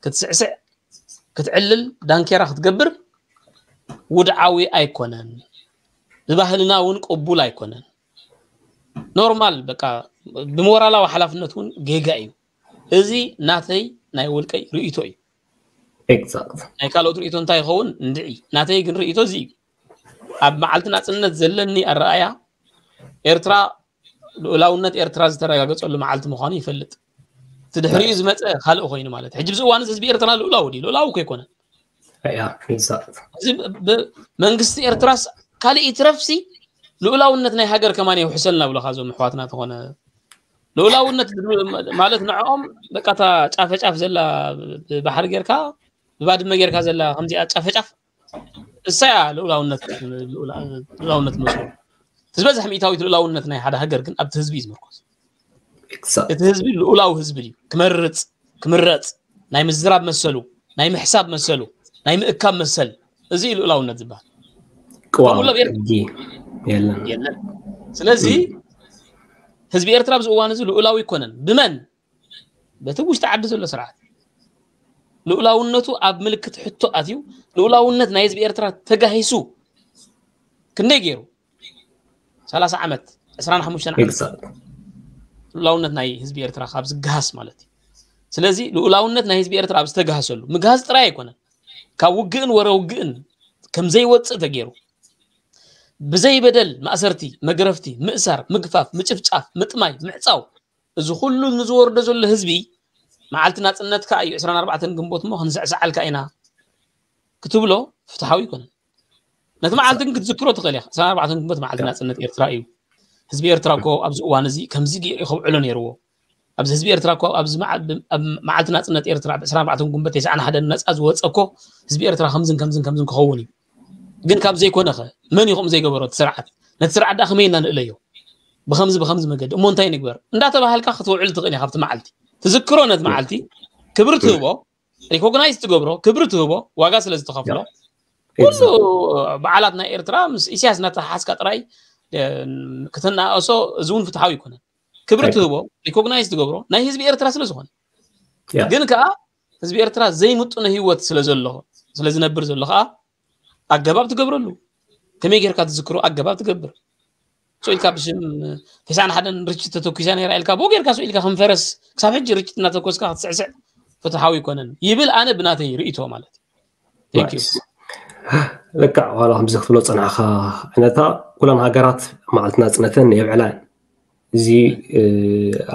ክትስዕስዕ ክትዕልል ዳንኬራ ክትገብር ውድዓዊ ኣይኮነን ብባህልና እውን ቅቡል ኣይኮነን ኖርማል በቃ ብሞራላዊ ሓላፍነት እውን ጌጋ እዩ እዚ ናተይ ናይ ውልቀይ ርእይቶ እዩ ናይ ካልኦት ርእይቶ እንታይ ይኸውን እንድዒ ናተይ ግን ርእይቶ እዚ እዩ ኣብ መዓልቲ ናፅነት ዘለኒ ኣረኣያ ኤርትራ ልኡላውነት ኤርትራ ዝተረጋገፀሉ መዓልቲ ምዃኑ ይፈልጥ እቲ ድሕሪኡ ዝመፀ ካልእ ኮይኑ ማለት እዩ። ሕጂ ብዚ እዋን እዚ ህዝቢ ኤርትራ ልኡላዊ ድዩ? ልኡላዊ እኮ ኣይኮነን። ያ፣ exact። እዚ ብ-፣ መንግስቲ ኤርትራስ ካልእ ይትረፍሲ ልኡላውነት ናይ ሃገር ከማን የውሕሰልና ብለኻ እዞም ኣሕዋትና ተኾነ ልኡላውነት ማለት ንዕኦም በቃ እታ ጫፈ ጫፍ ዘላ ብባሕሪ ጌርካ ብባድመ ጌርካ ዘላ ከምዚኣ ጫፈ ጫፍ እሳያ ልኡላውነት፣ ልኡላ-፣ ልኡላውነት መስሎ። እቲ ዝበዝሕ ሚእታዊት ልኡላውነት ናይ ሓደ ሃገር ግን ኣብቲ ህዝቢ እዩ ዝምርኮስ። Exact። እቲ ህዝቢ ልኡላዊ ህዝቢ ድዩ? ክመርጽ፣ ክምረጽ፣ ናይ ምዝራብ መሰሉ፣ ናይ ምሕሳብ መሰሉ፣ ናይ ምእካብ መሰል፣ እዚ እዩ ልኡላውነት ዝበሃል። ቅዋም ከምኡ ለቤር- ሕጊ የለን። የለን። ስለዚ ህዝቢ ኤርትራ ኣብዚ እዋን እዚ ልኡላዊ ኣይኮነን። ብመን? በቲ ውሽጢ ዓዲ ዘሎ ስርዓት። ልኡላውነቱ ኣብ ምልክት ሕቶ ኣትዩ፣ ልኡላውነት ናይ ህዝቢ ኤርትራ ተጋሂሱ ክንደይ ገይሩ? ሰላሳ ዓመት፣ ዕስራን ሓሙሽተን ዓመት Exact። ልኡላውነት ናይ ህዝቢ ኤርትራ ካብ ዝገሃስ ማለት እዩ። ስለዚ ልኡላውነት ናይ ህዝቢ ኤርትራ ኣብ ዝተገሃሰሉ፣ ምግሃስ ጥራይ ኣይኮነን፣ ካብ ውግእን ወረ ውግእን ከም ዘይወፅእ ተገይሩ፣ ብዘይ በደል ማእሰርቲ፣ መግረፍቲ፣ ምእሳር፣ ምግፋፍ፣ ምጭፍጫፍ፣ ምጥማይ፣ ምዕፃው፣ እዚ ኩሉ ንዝወርዶ ዘሎ ህዝቢ መዓልቲ ናፅነትካ እዩ፣ ዕስራን ኣርባዕተን ግንቦት እሞ ክንስዕስዓልካ ኢና ክትብሎ ፍትሓዊ ኣይኮነን። ነቲ መዓልቲ ግን ክትዝክሮ ትኽእል ኢኻ። ዕስራን ኣርባዕተን ግንቦት መዓልቲ ናፅነት ኤርትራ እዩ። ህዝቢ ኤርትራ እኮ ኣብዚ እዋን እዚ ከምዚ ገይሩ ከብዕሎ ነይርዎ። ኣብዚ ህዝቢ ኤርትራ እኮ ኣብዚ መዓ-፣ ኣብ መዓልቲ ናፅነት ኤርትራ ብ ዕስራን ኣርባዕተን ግንቦት ተስዓን ሓደን ነፃ ዝወፀ እኮ ህዝቢ ኤርትራ ከምዝን ከምዝን ከምዝን ክኸውን እዩ። ግን ካብ ዘይኮነ ኸ መን እዩ ከምኡ ዘይገበሮ? እቲ ስርዓት። ነቲ ስርዓት ደኣ ከመይ ኢና ንእለዮ? ብኸምዚ ብኸምዚ መገዲ እሞ እንታይ ንግበር እንዳተባሃልካ ክትውዕል ትኽእል ኢኻ። ኣብቲ መዓልቲ ትዝክሮ፣ ነቲ መዓልቲ ክብሪ ትህቦ፣ ሪኮግናይዝ ትገብሮ፣ ክብሪ ትህቦ፣ ዋጋ ስለ ዝተኸፍሎ ኩሉ በዓላት ናይ ኤርትራ ምስ ኢሳያስ እናተሓሓዝካ ጥራይ፣ እ፣ ክትናኣሶ፣ እዚ እውን ፍትሓዊ ኣይኮነን። ክብሪ ትህቦ፣ ሪኮግናይዝ ትገብሮ ናይ ህዝቢ ኤርትራ ስለ ዝኾነ። ያ። ግን ከኣ ህዝቢ ኤርትራ ዘይምጡነ ህይወት ስለ ዘሎ፣ ስለ ዝነብር ዘሎ ከኣ ኣገባብ ትገብረሉ። ከመይ ጌርካ ትዝክሮ ኣገባብ ትገብር። ስቕ ኢልካ ብሽም ተስዓን ሓደን ርችት ተተኩሳ ነይራ ኢልካ ብኡ ጌርካ ስቕ ኢልካ ከም ፈረስ ክሳብ ሕጂ ርችት እናተኮስካ ክትስዕስዕ ፍትሓዊ ኣይኮነን ይብል ኣነ ብናተይ ርእይቶ ማለት እዩ። Thank you። Nice። ልክዕ፣ ዋላ ከምዚ ክትብሎ ጸናሕካ ዓይነታ ኩለን ሃገራት መዓልቲ ናጽነተን የብዕላ እየን። እዚ፣ እ፣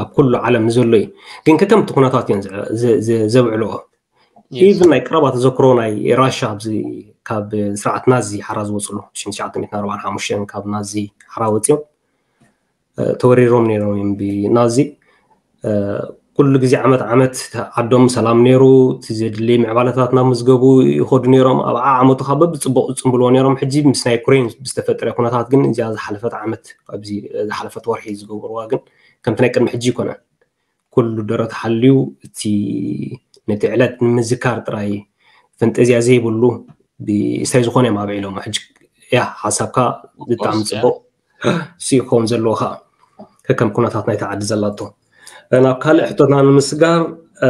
ኣብ ኩሉ ዓለም ዘሎ እዩ። ግን ከከምቲ ኩነታት እየን ዘ-፣ ዘ-፣ ዘ-፣ ዘብዕልኦ። Yes። ኢቭን ናይ ቀረባ ተዘክሮ ናይ ራሻ ኣብዚ ካብ ስርዓት ናዚ ሓራ ዝወፅሉ ሽዱሽተ ሚእትን ኣርባዓን ሓሙሽተን ካብ ናዚ ሓራ ወፂኦም፣ እ፣ ተወሪሮም ነይሮም እዮም ብናዚ። እ፣ ኩሉ ግዜ ዓመት ዓመት ዓዶም ሰላም ነይሩ፣ እቲ ዘድሊ ምዕባለታት ናብ ምዝገቡ ይኸዱ ነይሮም። ኣብ ዓመቱ ካብ በብፅቡቕ ዝፅምብልዎ ነይሮም። ሕጂ ምስ ናይ ዩክሬን ብዝተፈጠረ ኩነታት ግን እዚኣ ዝሓለፈት ዓመት፣ ኣብዚ ዝሓለፈት ወርሒ ዝገበርዋ ግን ከምቲ ናይ ቅድሚ ሕጂ ይኮነን። ኩሉ ደረት ሓልዩ እቲ ነቲ ዕለት ንምዝካር ጥራይ ፈንጠዝያ ዘይብሉ ብእስታይ ዝኾነ እዮም ኣብዒሎም። ሕጂ ያ ሓሳብካ ብጣዕሚ Of course፣ ያ። ጽቡቕ ሲ ክኸውን ዘለዎ ከዓ ከከም ኩነታት ናይቲ ዓዲ ዘላቶ። ናብ ካልእ ሕቶትና ንምስጋር፣ እ፣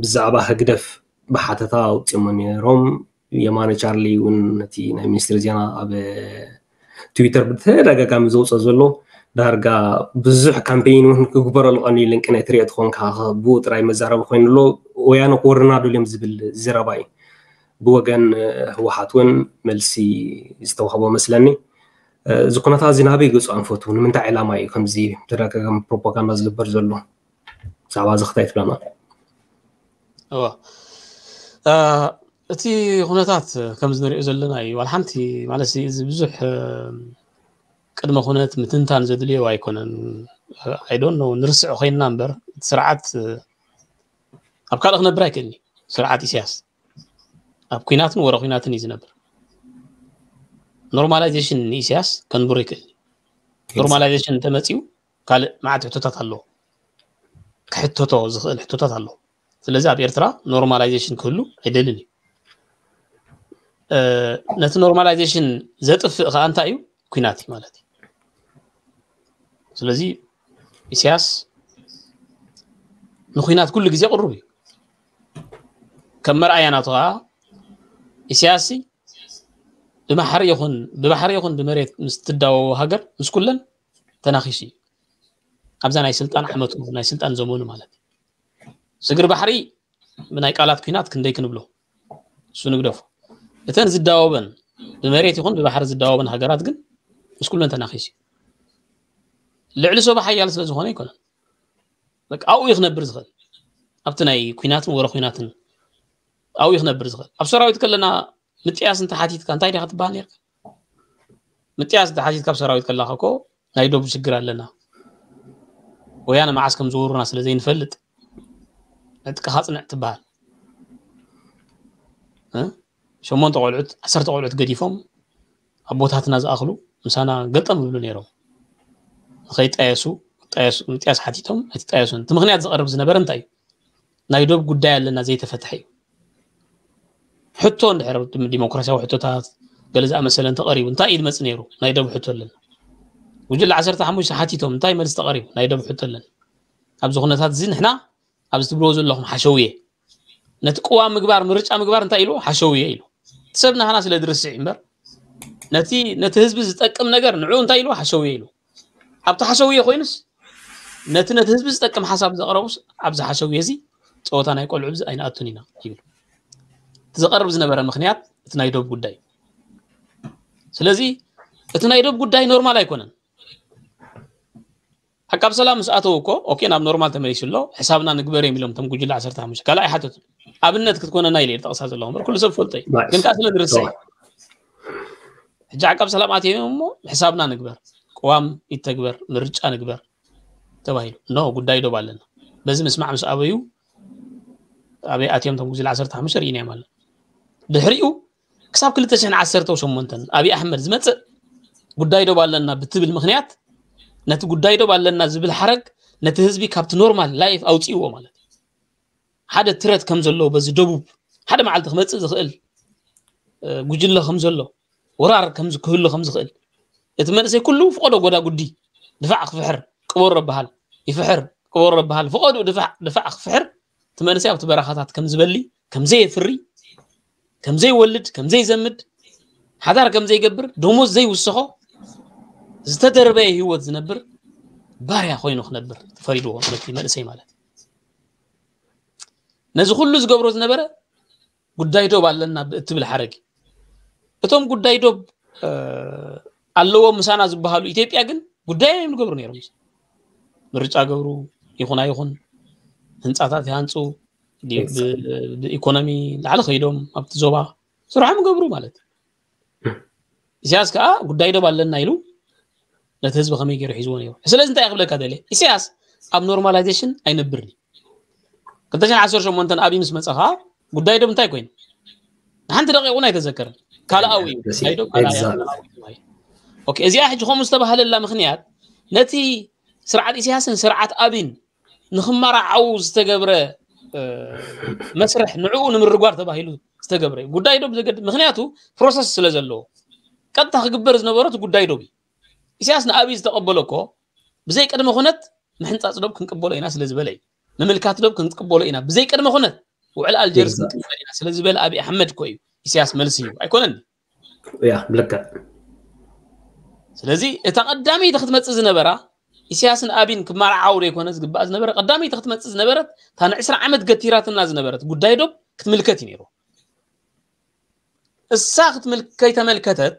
ብዛዕባ ህግደፍ ብሓተታ ኣውፂሞ ነይሮም። የማነ ቻርሊ እውን ነቲ ናይ ሚኒስትሪ ዜና ኣብ ትዊተር ብተደጋጋሚ ዘውፅኦ ዘሎ ዳርጋ ብዙሕ ካምፔይን እውን ክግበረሉ ቀንዩ ልንቂ ናይ ትሪኦ ትኾንካ ብኡ ጥራይ መዛረቢ ኮይኑ ኣሎ። ወያነ ክወርና ደልዮም ዝብል ዘረባ እዩ። ብወገን ህወሓት እውን መልሲ ዝተዋህቦ መስለኒ። እዚ ኩነታት እዚ ናበይ ገፁ ኣንፈቱ? ንምንታይ ዕላማ እዩ ከምዚ ተደጋጋሚ ፕሮፓጋንዳ ዝግበር ዘሎ? ብዛዕባ እዚ ክታይ ትብለና? እወ። እ፣ እቲ ኩነታት ከምዚ ንሪኦ ዘለና እዩ። ዋላ ሓንቲ ማለት እዚ ብዙሕ፣ እ፣ ቅድመ ኩነት ምትንታን ዘድልዮ ኣይኮነን። I don't know፣ ንርስዖ ኮይንና እምበር፣ እቲ ስርዓት፣ እ፣ ኣብ ካልእ ክነብር ኣይክእልን እዩ። ስርዓት ኢሳያስ ኣብ ኩናትን ወረ ኩናትን እዩ ዝነብር። ኖርማላይዜሽን ንኢሳያስ ከንብሮ ይክእል እዩ። ኖርማላይዜሽን እንተመፂኡ ካልእ መዓት ሕቶታት ኣለዎ። ክሕተቶ ዝኽእል ሕቶታት ኣለዎ። ስለዚ ኣብ ኤርትራ ኖርማላይዜሽን ክህሉ ኣይደልን እዩ። እ፣ ነቲ ኖርማላይዜሽን ዘጥፍእ ከዓ እንታይ እዩ? ኩናት እዩ ማለት እዩ። ስለዚ ኢሳያስ ንኩናት ኩሉ ግዜ ቅሩብ እዩ። ከም መርኣያ ናቱ ከዓ ኢሳያስ ብባሕሪ ይኹን፣ ብባሕሪ ይኹን ብመሬት ምስ ትዳወቦ ሃገር ምስ ኩለን ተናኺሱ እዩ። ኣብዛ ናይ ስልጣን ዓመቱ፣ ናይ ስልጣን ዘመኑ ማለት እዩ። ስግር ባሕሪ ብናይ ቃላት ኩናት ክንደይ ክንብሎ፣ እሱ ንግደፎ። እተን ዝዳወበን፣ ብመሬት ይኹን ብባሕሪ ዝዳወበን ሃገራት ግን ምስ ኩለን ተናኺሱ እዩ። ልዕሊ ሶባ ሓያል ስለ ዝኾነ ኣይኮነን። በቃ ኣብኡ እዩ ክነብር ዝኽእል። ኣብቲ ናይ ኩናትን ወረ ኩናትን ኣብኡ ክነብር ዝኽእል። ኣብ ሰራዊት ከለና ምጥያስ እንተ ሓቲትካ እንታይ ዲኻ ትበሃል ነርካ? ምጥያስ እንተ ሓቲትካ ኣብ ሰራዊት ከለኻ እኮ ናይ ዶብ ሽግር ኣለና፣ ወያነ መዓስ ከም ዝወሩና ስለ ዘይንፈልጥ ዕጥቅኻ ጽንዕ ትበሃል። እ? ሸሞንተ ቆልዑት፣ ዓሰርተ ቆልዑት ገዲፎም ኣቦታትና ዝኣኽሉ ምሳና ገልጠም ይብሉ ነይሮም። ንኸይጣየሱ፣ ጣየሱ፣ ምጥያስ ሓቲቶም ኣይትጣየሱን። እቲ ምኽንያት ዝቐርብ ዝነበረ እንታይ እዩ? ናይ ዶብ ጉዳይ ኣለና ዘይተፈትሐ እዩ። ሕቶ እንድሕር ዲሞክራሲያዊ ሕቶታት ገለ ዝኣመሰለ እንተቐሪቡ እንታይ እዩ ዝመጽእ ነይሩ? ናይ ዶብ ሕቶ ኣለና። ጉጅለ ዓሰርተ ሓሙሽተ ሓቲቶም እንታይ መልሲ ተቐሪቡ? ናይ ዶብ ሕቶ ኣለና። ኣብዚ ኩነታት እዚ ንሕና ኣብዚ ትብልዎ ዘለኹም ሓሸውየ ነቲ ቅዋም ምግባር ምርጫ ምግባር እንታይ ኢሉ ሓሸውየ ኢሉ እቲ ሰብ ናህና ስለ ዝርስዕ እምበር ነቲ ነቲ ህዝቢ ዝጠቅም ነገር ንዑ እንታይ ኢሉ ሓሸውየ ኢሉ ኣብቲ ሓሸውየ ኮይኑስ ነቲ ነቲ ህዝቢ ዝጠቅም ሓሳብ ዘቕረቡስ ኣብዚ ሓሸውየ እዚ ፀወታ ናይ ቆልዑ ብዚ ኣይንኣቱን ኢና ይብል። እቲ ዝቐርብ ዝነበረ ምክንያት እቲ ናይ ዶብ ጉዳይ እዩ። ስለዚ እቲ ናይ ዶብ ጉዳይ ኖርማል ኣይኮነን። ዓቃብ ሰላም ምስ ኣተው እኮ ኦኬ ናብ ኖርማል ተመሊሱ ኣሎ። ሕሳብና ንግበር እዮም ኢሎም እቶም ጉጅለ ዓሰርተ ሓሙሽተ ካልእ ኣይሓተቱን። ኣብነት ክትኮነና ኢለ እየ ጠቕሳ ዘለኹ እምበር ኩሉ ሰብ ፈልጦ እዩ። ግን ከዓ ስለ ዝርሳዕ ሕጂ ዓቃብ ሰላም ኣትዮም እሞ ሕሳብና ንግበር፣ ቅዋም ይተግበር፣ ምርጫ ንግበር ተባሂሉ ኖ ጉዳይ ዶብ ኣለና። በዚ ምስማዕ ምስ ኣበዩ ኣበይ ኣትዮም እቶም ጉጅለ ዓሰርተ ሓሙሽተ ርኢናዮም ኣለና። ድሕሪኡ ክሳብ ክልተ ሽሕን ዓሰርተ ሸሞንተን ኣብይ ኣሕመድ ዝመፅእ ጉዳይ ዶብ ኣለና ብትብል ምክንያት ነቲ ጉዳይ ዶብ ኣለና ዝብል ሓረግ ነቲ ህዝቢ ካብቲ ኖርማል ላይፍ ኣውፅእዎ ማለት እዩ። ሓደ ትረት ከም ዘለዎ በዚ ደቡብ ሓደ መዓልቲ ክመፅእ ዝኽእል ጉጅለ ከም ዘሎ ወራር ክህሉ ከም ዝኽእል እቲ መንእሰይ ኩሉ ፍቐዶ ጎዳ ጉዲ ድፋዕ ክፍሕር ቅበሮ በሃል ይፍሕር ቅበሮ በሃል ፍቐዱ ድፋዕ ድፋዕ ክፍሕር እቲ መንእሰይ ኣብቲ በረኻታት ከም ዝበሊ ከም ዘየፍሪ ከም ዘይወልድ ከም ዘይዘምድ ሓዳር ከም ዘይገብር ደሞዝ ዘይውስኾ ዝተደርበየ ህይወት ዝነብር ባርያ ኮይኑ ክነብር ተፈሪድዎ ነቲ መንእሰይ ማለት ነዚ ኩሉ ዝገብሮ ዝነበረ ጉዳይ ዶብ ኣለና እትብል ሓረግ እቶም ጉዳይ ዶብ ኣለዎ ምሳና ዝበሃሉ ኢትዮጵያ ግን ጉዳይ እዮም ዝገብሩ ነይሮም። ምርጫ ገብሩ ይኹን ኣይኹን ህንፃታት ይሃንፁ ብኢኮኖሚ ላዕሊ ከይዶም ኣብቲ ዞባ ስርሖም ይገብሩ ማለት እዩ። ኢሳያስ ከዓ ጉዳይ ዶብ ኣለና ኢሉ ነቲ ህዝቢ ከመይ ገይሩ ሒዝዎ ነይሩ። ስለዚ እንታይ ክብለካ ደልየ ኢሳያስ ኣብ ኖርማላይዜሽን ኣይነብርን እዩ። ክልተ ሽሕን ዓሰርተ ሸሞንተን ኣብይ ምስ መፀ ከዓ ጉዳይ ዶብ እንታይ ኮይኑ ንሓንቲ ደቂቕ እውን ኣይተዘከረን። ካልኣዊ እዩ ጉዳይ ዶብ ካልኣዊ እዚኣ ሕጂ ከምኡ ዝተባህለላ ምክንያት ነቲ ስርዓት ኢሳያስን ስርዓት ኣብይን ንክመራዓው ዝተገብረ መስርሕ ንዕኡ ንምርጓር ተባሂሉ ዝተገብረ እዩ። ጉዳይ ዶብ ዘገድ ምክንያቱ ፕሮሰስ ስለ ዘለዎ ቀጥታ ክግበር ዝነበሮ እቲ ጉዳይ ዶብ እዩ። ኢሳያስ ንኣብይ ዝተቐበሎ እኮ ብዘይ ቅድመ ኩነት ምሕንፃፅ ዶብ ክንቅበሎ ኢና ስለ ዝበለ እዩ። ምምልካት ዶብ ክንቅበሎ ኢና ብዘይ ቅድመ ኩነት ውዕል ኣልጀርስ ክንቅበል ኢና ስለ ዝበለ ኣብይ ኣሕመድ እኮ እዩ ኢሳያስ መልሲ እዩ ኣይኮነን። ያ ብልክዕ ስለዚ እታ ቀዳመይቲ ክትመፅእ ዝነበራ ኢሳያስን ኣብይን ክመርዓው ዘይኮነ ዝግባእ ዝነበረ ቀዳመይቲ ክትመፅእ ዝነበረት እታ ንዕስራ ዓመት ገቲራትና ዝነበረት ጉዳይ ዶብ ክትምልከት እዩ ነይሩ። እሳ ክትምል ከይተመልከተት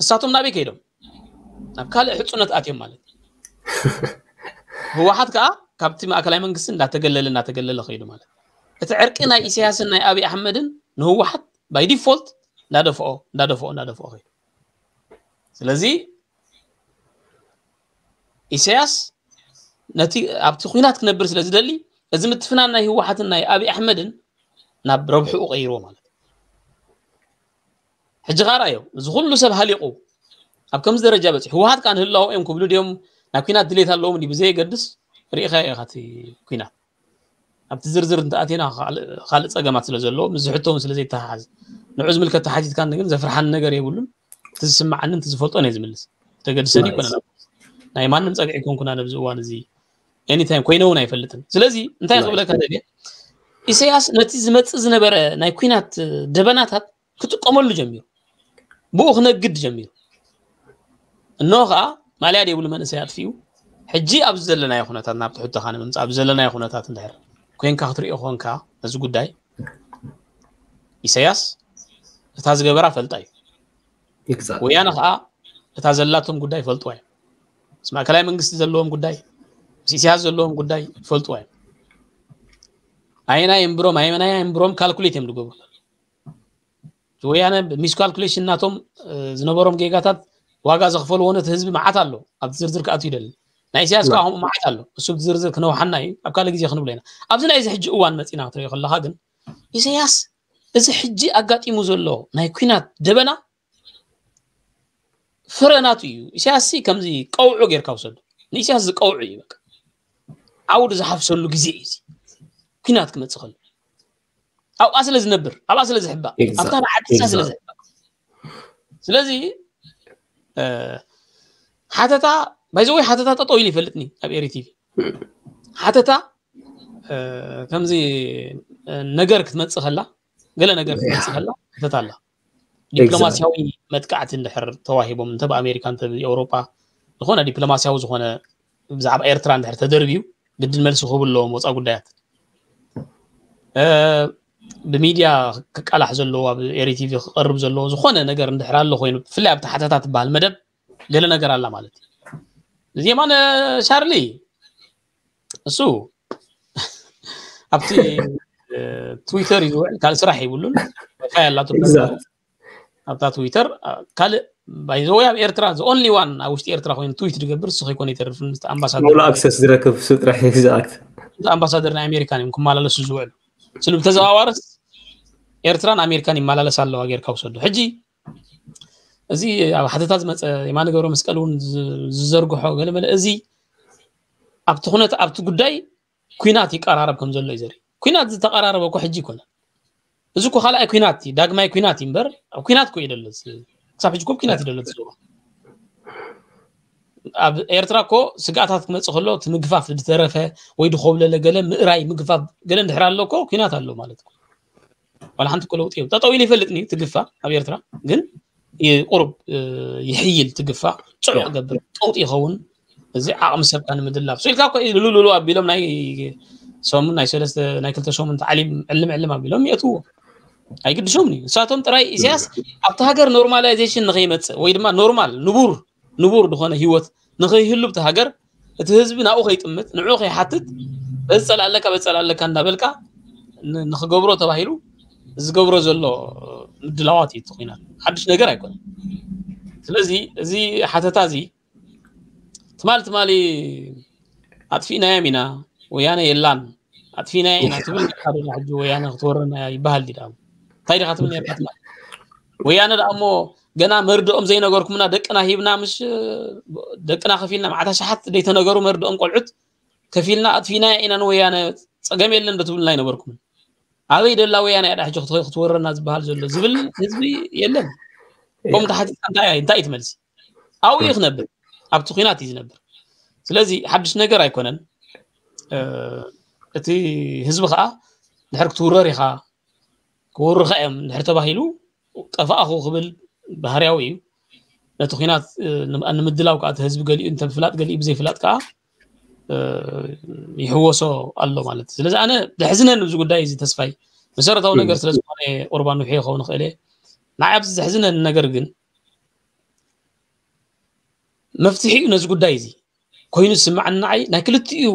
እሳቶም ናበይ ከይዶም ናብ ካልእ ሕፁነት ኣትዮም ማለት ህወሓት ከዓ ካብቲ ማእከላይ መንግስቲ እንዳተገለለ እንዳተገለለ ከይዱ ማለት እቲ ዕርቂ ናይ ኢሳያስን ናይ ኣብይ ኣሕመድን ንህወሓት ባይ ዲፎልት እንዳደፍኦ እንዳደፍኦ እንዳደፍኦ ከይዱ። ስለዚ ኢሳያስ ነቲ ኣብቲ ኩናት ክነብር ስለ ዝደሊ እዚ ምትፍናን ናይ ህወሓትን ናይ ኣብይ ኣሕመድን ናብ ረብሕኡ ቀይርዎ ማለት እዩ። ሕጂ ኻራ እዮም እዚ ኩሉ ሰብ ሃሊቑ ኣብ ከምዚ ደረጃ በፂሑ ህወሓት ከዓ ንህላወ እዮም ክብሉ ድዮም ናብ ኩናት ድሌት ኣለዎም ብዘየገድስ ርኢኻ ኢኻ እቲ ኩናት ኣብቲ ዝርዝር እንተኣቲና ካልእ ፀገማት ስለ ዘለዎ ምስ ዝሕቶ እውን ስለ ዘይተሓሓዝ ንዑ ዝምልከት ተሓቲትካ ግን ዘፍርሓኒ ነገር የብሉን። እቲ ዝስምዓንን እቲ ዝፈልጦን እየ ዝምልስ። ተገድሰኒ ይኮነ ናይ ማንም ፀግዒ ኮንኩና ነብዚ እዋን እዚ ኤኒታይም ኮይነ እውን ኣይፈልጥን። ስለዚ እንታይ ክብለካ ደልየ ኢሳያስ ነቲ ዝመፅእ ዝነበረ ናይ ኩናት ደበናታት ክጥቀመሉ ጀሚሩ ብኡ ክነግድ ጀሚሩ እኖ ከዓ ማልያ ደይብሉ መንእሰይ ኣጥፊኡ ሕጂ ኣብዚ ዘለናዮ ኩነታት ናብ ትሕቶኻ ንምምፃእ ኣብዚ ዘለናዮ ኩነታት እንድሕር ኮይንካ ክትሪኦ ኮንካ ነዚ ጉዳይ ኢሳያስ እታ ዝገበራ ፈልጣ እዩ። ወያነ ከዓ እታ ዘላቶም ጉዳይ ይፈልጥዋ እዮም። ምስ ማእከላይ መንግስቲ ዘለዎም ጉዳይ ምስ ኢሳያስ ዘለዎም ጉዳይ ይፈልጥዋ እዮም። ኣየናይ እምብሮም ኣየናይ እምብሮም ካልኩሌት እዮም ዝገብሩ። ወያነ ሚስካልኩሌሽን ናቶም ዝነበሮም ጌጋታት ዋጋ ዘኽፈልዎ ነቲ ህዝቢ መዓት ኣሎ። ኣብቲ ዝርዝር ክኣትው ይደሊ። ናይ ኢሳያስ ከዓ ከምኡ መዓት ኣሎ። እሱ ዝርዝር ክነውሓና እዩ፣ ኣብ ካልእ ግዜ ክንብሎ ኢና። ኣብዚ ናይዚ ሕጂ እዋን መፂና ክትሪኦ ከለኻ ግን ኢሳያስ እዚ ሕጂ ኣጋጢሙ ዘሎ ናይ ኩናት ደበና ፍረ ናቱ እዩ። ኢሳያስ ከምዚ ቀውዑ ጌርካ ውሰዱ። ንኢሳያስ ዝቀውዑ እዩ። በቃ ዓውዲ ዝሓፍሰሉ ግዜ እዩ። ኩናት ክመፅእ ከሎ ኣብኣ ስለ ዝነብር ኣብኣ ስለ ዝሕባእ ኣብታ ዓዲሳ ስለ ዝሕባእ ስለዚ ሓተታ ባይዘወይ ሓተታ ጠጠው ኢሉ ይፈልጥኒ ኣብ ኤሪ ቲቪ ሓተታ ከምዚ ነገር ክትመፅእ ከላ ገለ ነገር ክትመፅእ ከላ ሓተታ ኣላ ዲፕሎማሲያዊ መጥቃዕቲ እንድሕር ተዋሂቦም እንተ ብኣሜሪካ እንተ ብኤውሮጳ ዝኾነ ዲፕሎማሲያዊ ዝኾነ ብዛዕባ ኤርትራ እንድሕር ተደርብዩ ግድን መልሲ ክህቡ ኣለዎም ወፃ ጉዳያት ብሚድያ ክቃላሕ ዘለዎ ኣብ ኤሪ ቲቪ ክቀርብ ዘለዎ ዝኾነ ነገር እንድሕር ኣሎ ኮይኑ ብፍላይ ኣብቲ ሓተታ ትበሃል መደብ ገለ ነገር ኣላ ማለት እዩ እዚ የማነ ሻርሊ እሱ ኣብቲ ትዊተር እዩ ዝውዕል ካልእ ስራሕ ይብሉን ዋይፋይ ኣላቶ ኣብታ ትዊተር ካልእ ባይዘወይ ኣብ ኤርትራ the only one ኣብ ውሽጢ ኤርትራ ኮይኑ ትዊት ዝገብር እሱ ከይኮነ ይተርፍ ምስ ኣምባሳደር ሙሉ ኣክሰስ ዝረክብ እሱ ጥራሕ exact ኣምባሳደር ናይ ኣሜሪካን እዮም ክመላለሱ ዝውዕሉ ስሉ ብተዘዋዋርስ ኤርትራን ኣሜሪካን ይመላለስ ኣለዋ ጌርካ ውሰዱ ሕጂ እዚ ኣብ ሓተታ ዝመፀ የማነ ገብረ መስቀል እውን ዝዘርግሖ ገለመለ እዚ ኣብቲ ኩነት ኣብቲ ጉዳይ ኩናት ይቀራረብ ከም ዘሎ እዩ ዘርኢ ኩናት ዝተቀራረበ እኮ ሕጂ ይኮነ እዚ እኮ ካልኣይ ኩናት እዩ ዳግማይ ኩናት እዩ እምበር ኣብ ኩናት እኮ እዩ ደሎ ክሳብ ሕጂ እኮ ኩናት እዩ ደሎ ዝዘሩ ኣብ ኤርትራ እኮ ስግኣታት ክመፅእ ከሎ እቲ ምግፋፍ ዝተረፈ ወይ ድኮብለለ ገለ ምእራይ ምግፋፍ ገለ እንድሕር ኣሎ እኮ ኩናት ኣሎ ማለት እዩ ዋላ ሓንቲ እኮ ለውጢ የብሉ ጠጠው ኢሉ ይፈልጥኒ ትግፋ ኣብ ኤርትራ ግን ቁሩብ ይሕይል ትግፋ ፅዑቅ ገብር ቀውጢ ይኸውን እዚ ዓቕሚ ሰብካ ንምድላብ ሶ ኢልካ እኮ ሉሉሉ ኣቢሎም ናይ ሰሙን ናይ ሰለስተ ናይ ክልተ ሰሙን ተዓሊም ዕልም ዕልም ኣቢሎም የእትዎ ኣይግድሾምኒ ንሳቶም ጥራይ ኢሳያስ ኣብቲ ሃገር ኖርማላይዜሽን ንኸይመፅእ ወይ ድማ ኖርማል ንቡር ንቡር ዝኾነ ህይወት ንኸይህሉ ብቲ ሃገር እቲ ህዝቢ ናብኡ ከይጥምት ንዕኡ ከይሓትት በዚ ፀላለካ በዚ ፀላለካ እንዳበልካ ንክገብሮ ተባሂሉ ዝገብሮ ዘሎ ምድላዋት እዩ ተኮይና ሓድሽ ነገር ኣይኮነን ስለዚ እዚ ሓተታ እዚ ትማሊ ትማሊ ኣጥፊእናዮም ኢና ወያነ የላን ኣጥፊእናዮ ኢና ትብል ካ ሕጂ ወያነ ክትወረና ይበሃል ዲ ዳሞ እንታይ ዲካ ትብል ነርካ ትማሊ ወያነ ዳሞ ገና መርድኦም ዘይነገርኩምና ደቅና ሂብና ምሽ ደቅና ከፊልና ማዕታ ሸሓት ደይተነገሩ መርድኦም ቆልዑት ከፊልና ኣጥፊእናዮ ኢና ንወያነ ፀገም የለን ዶ ትብልና ኣይነበርኩምን ኣበይ ደላ ወያነ እያ ሕጂ ክትወረና ዝበሃል ዘሎ ዝብል ህዝቢ የለን ከምኡ ተሓቲትካ እንታይ እንታይ እዩ ትመልሲ ኣብኡ እዩ ክነብር ኣብቲ ኩናት እዩ ዝነብር ስለዚ ሓድሽ ነገር ኣይኮነን እቲ ህዝቢ ከዓ ድሕር ክትውረር ኢኻ ክወሩኻ እዮም ድሕር ተባሂሉ ጠፋእኹ ክብል ባህርያዊ እዩ ነቲ ኩናት ንምድላው ከዓ ህዝቢ ገሊኡ እንተ ብፍላጥ ገሊኡ ብዘይፍላጥ ከዓ ይሕወሶ ኣሎ ማለት እዩ ስለዚ ኣነ ዘሕዝነኒ እዚ ጉዳይ እዚ ተስፋይ መሰረታዊ ነገር ስለ ዝኾነ ቁርባን ውሒ ይኸውን ይኽእል እየ ንዓይ ኣብዚ ዘሕዝነኒ ነገር ግን መፍትሒኡ ነዚ ጉዳይ እዚ ኮይኑ ዝስምዓኒ ንዓይ ናይ ክልቲኡ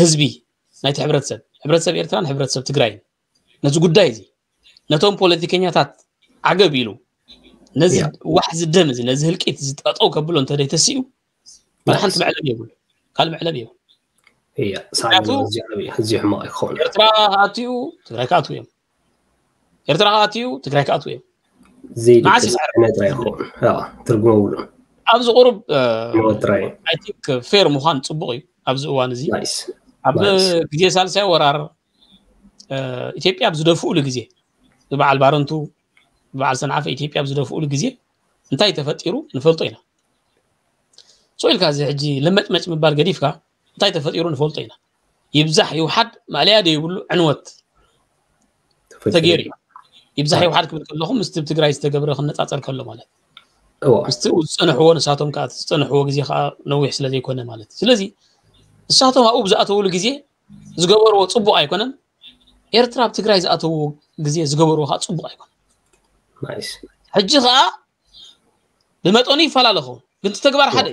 ህዝቢ ናይቲ ሕብረተሰብ ሕብረተሰብ ኤርትራን ሕብረተሰብ ትግራይን ነዚ ጉዳይ እዚ ነቶም ፖለቲከኛታት ዓገብ ኢሉ ነዚ ዋሕዚ ደም እዚ ነዚ ህልቂት እዚ ጠጠው ከብሎ እንተደይተሲኡ ወላ ሓንቲ መዕለብ የብሉ ካልእ መዕለብ የብሉ እያ ሳዕቤኑ ኣዝዩ ዓብዪ ኣዝዩ ሕማቕ ክኸውን ኤርትራ ክኣትዩ ትግራይ ክኣትዉ እዮም ኤርትራ ክኣትዩ ትግራይ ክኣትዉ እዮም ዘይድቅስ ዕነ ጥራይ ይኸውን ትርጉም የብሉን ኣብዚ ቁሩብ ሞት ጥራይ ኣይ ቲንክ ፌር ምዃን ፅቡቅ እዩ ኣብዚ እዋን እዚ ናይስ ኣብ ግዜ ሳልሳይ ወራር ኢትዮጵያ ኣብ ዝደፍኡሉ ግዜ ብበዓል ባረንቱ ብበዓል ሰንዓፈ ኢትዮጵያ ኣብ ዝደፍኡሉ ግዜ እንታይ ተፈጢሩ ንፈልጦ ኢና ሶ ኢልካ እዚ ሕጂ ለመጭመጭ ምባል ገዲፍካ እንታይ ተፈጢሩ ንፈልጦ ኢና ይብዛሕ ይውሓድ ማእለያ ደይብሉ ዕንወት ተገይሩ እዩ ይብዛሕ ይውሓድ ክብል ከለኹ ምስቲ ትግራይ ዝተገብረ ክነፃፀር ከሎ ማለት ምስቲ ዝፀንሕዎ ንሳቶም ከዓ ዝፀንሕዎ ግዜ ከዓ ነዊሕ ስለ ዘይኮነ ማለት እዩ ስለዚ ንሳቶም ኣብኡ ብዝኣተውሉ ግዜ ዝገበርዎ ፅቡቅ ኣይኮነን ኤርትራ ኣብ ትግራይ ዝኣተውዎ ግዜ ዝገበርዎ ከዓ ፅቡቅ ኣይኮነን ሕጂ ከዓ ብመጠኑ ይፈላለኹ ግን ተግባር ሓደ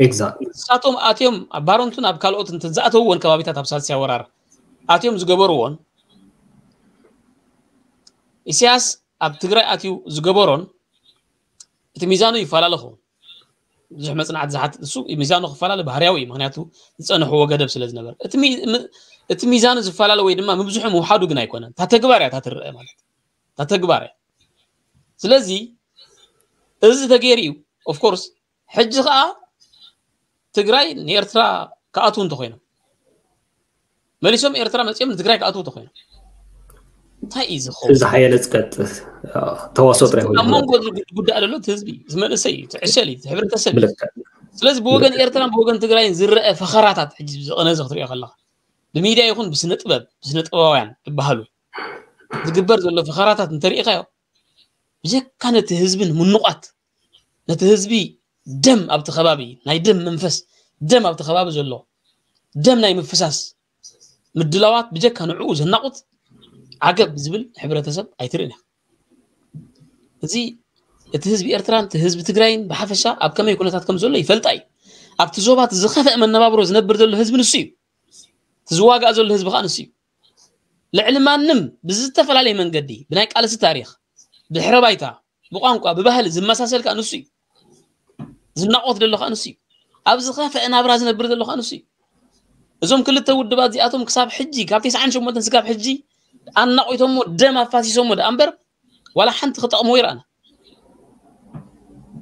እዩ ንሳቶም ኣትዮም ኣብ ባረንቱን ኣብ ካልኦት ዝኣተውዎን ከባቢታት ኣብ ሳልሳይ ወራር ኣትዮም ዝገበርዎን ኢሳያስ ኣብ ትግራይ ኣትዩ ዝገበሮን እቲ ሚዛኑ ይፈላለ ኸውን። ብዙሕ መፅናዕቲ ዝሓትት እሱ ሚዛኑ ክፈላለ ባህርያዊ እዩ። ምክንያቱ ዝፀንሕዎ ገደብ ስለ ዝነበረ እቲ ሚ- ም- እቲ ሚዛኑ ዝፈላለ ወይ ድማ ምብዝሑ ምውሓዱ ግን ኣይኮነን። እታ ተግባር እያ እታ ትረአ ማለት እታ ተግባር እያ። ስለዚ እዚ ተገይሩ እዩ። ኦፍኮርስ ሕጂ ከዓ ትግራይ ንኤርትራ ክኣትዉ እንተኮይኖም መሊሶም ኤርትራ መፂኦም ንትግራይ ክኣትዉ እንተኮይኖም እንታይ እዩ ዝኸውን? ዝሓየለ ዝቀጥል ተዋስኦ ጥራይ ኣብ መንጎ ዝጉዳእ ዘሎ እቲ ህዝቢ እዩ፣ እቲ መንእሰይ እዩ፣ እቲ ዕሸል እዩ፣ እቲ ሕብረተሰብ እዩ። ብልክዕ ስለዚ ብወገን ኤርትራን ብወገን ትግራይን ዝረአ ፈኸራታት ሕጂ ዝቐነዘ ክትሪኦ ከለካ ብሚድያ ይኹን ብስነ ጥበብ ብስነ ጥበባውያን ዝበሃሉ ዝግበር ዘሎ ፈኸራታት እንተሪኢኻዮ ብጀካ ነቲ ህዝቢ ንምንቋት ነቲ ህዝቢ ደም ኣብቲ ከባቢ ናይ ደም መንፈስ ደም ኣብቲ ከባቢ ዘሎ ደም ናይ ምፍሳስ ምድላዋት ብጀካ ንዕኡ ዘናቑት ዓገብ ዝብል ሕብረተሰብ ኣይትርእን ኢኻ። እዚ እቲ ህዝቢ ኤርትራን እቲ ህዝቢ ትግራይን ብሓፈሻ ኣብ ከመይ ኩነታት ከም ዘሎ ይፈልጣ እዩ። ኣብቲ ዞባ እቲ ዝኸፍአ መነባብሮ ዝነብር ዘሎ ህዝቢ ንሱ እዩ። እቲ ዝዋጋእ ዘሎ ህዝቢ ከዓ ንሱ እዩ። ልዕሊ ማንም ብዝተፈላለየ መንገዲ ብናይ ቃልሲ ታሪኽ ድሕረ ባይታ ብቋንቋ ብባህሊ ዝመሳሰል ከዓ ንሱ እዩ። ዝናቆት ዘሎ ከዓ ንሱ እዩ። ኣብ ዝኸፍአ ናብራ ዝነብር ዘሎ ከዓ ንሱ እዩ። እዞም ክልተ ውድባት እዚኣቶም ክሳብ ሕጂ ካብ ተስዓን ሸሞንተን ስጋብ ሕጂ ኣናቆይቶሞ ደም ኣፋሲሶሞ ደኣ እምበር ዋላ ሓንቲ ክጠቕምዎ ይረኣና።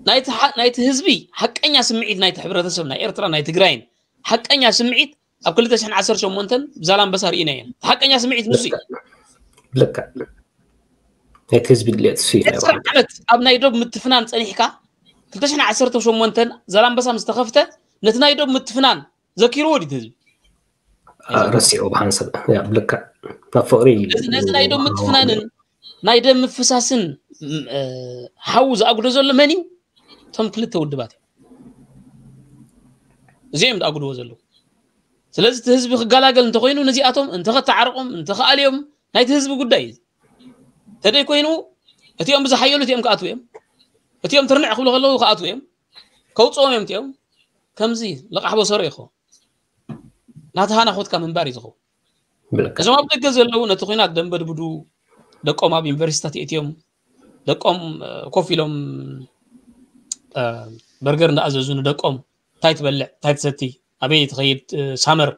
ናይቲ ሓ- ናይቲ ህዝቢ ሓቀኛ ስምዒት ናይቲ ሕብረተሰብ ናይ ኤርትራ ናይ ትግራይን ሓቀኛ ስምዒት ኣብ ክልተ ሽሕን ዓሰርተ ሸሞንተን ብዛላምበሳ ርኢና ኢና። እቲ ሓቀኛ ስምዒት ንሱ እዩ። ልክዕ ናይቲ ህዝቢ ድሌት እሱ እዩ ናይ ዕስራ ዓመት ኣብ ናይ ዶብ ምትፍናን ጸኒሕካ ክልተ ሽሕን ዓሰርተ ሸሞንተን ዛላምበሳ ምስ ተኸፍተ ነቲ ናይ ዶብ ምትፍናን ዘኪርዎ ድዩ እቲ ህዝቢ? ረሲዑ ብሓንሰብ ልክዕ ናብ ፍቕሪ ነዚ ናይ ዶብ ምትፍናንን ናይ ደም ምፍሳስን ሓዊ ዝኣጉዶ ዘሎ መን እዩ? እቶም ክልተ ውድባት እዮም። እዚኦም ዝኣጉድዎ ዘለዉ። ስለዚ እቲ ህዝቢ ክገላገል እንተኮይኑ ነዚኣቶም እንተኸተዓርቆም እንተኸኣልዮም ናይቲ ህዝቢ ጉዳይ እዩ። ተደይ ኮይኑ እቲኦም ብዝሓየሉ እቲኦም ክኣትዉ እዮም። እቲኦም ትርንዕ ክብሉ ከለዉ ክኣትዉ እዮም። ከውፅኦም እዮም እቲኦም። ከምዚ ልቓሕ በሰሮ ይኸውን። ናተሃናኾትካ ምንባር እዩ ዝኸውን። እዞም ኣብ ደገ ዘለዉ ነቲ ኩናት ደንበድብዱ ደቆም ኣብ ዩኒቨርሲቲታት የእትዮም ደቆም ኮፍ ኢሎም በርገር እንዳኣዘዙ ንደቆም እንታይ ትበልዕ እንታይ ትሰቲ ኣበይ ትኸይድ ሳመር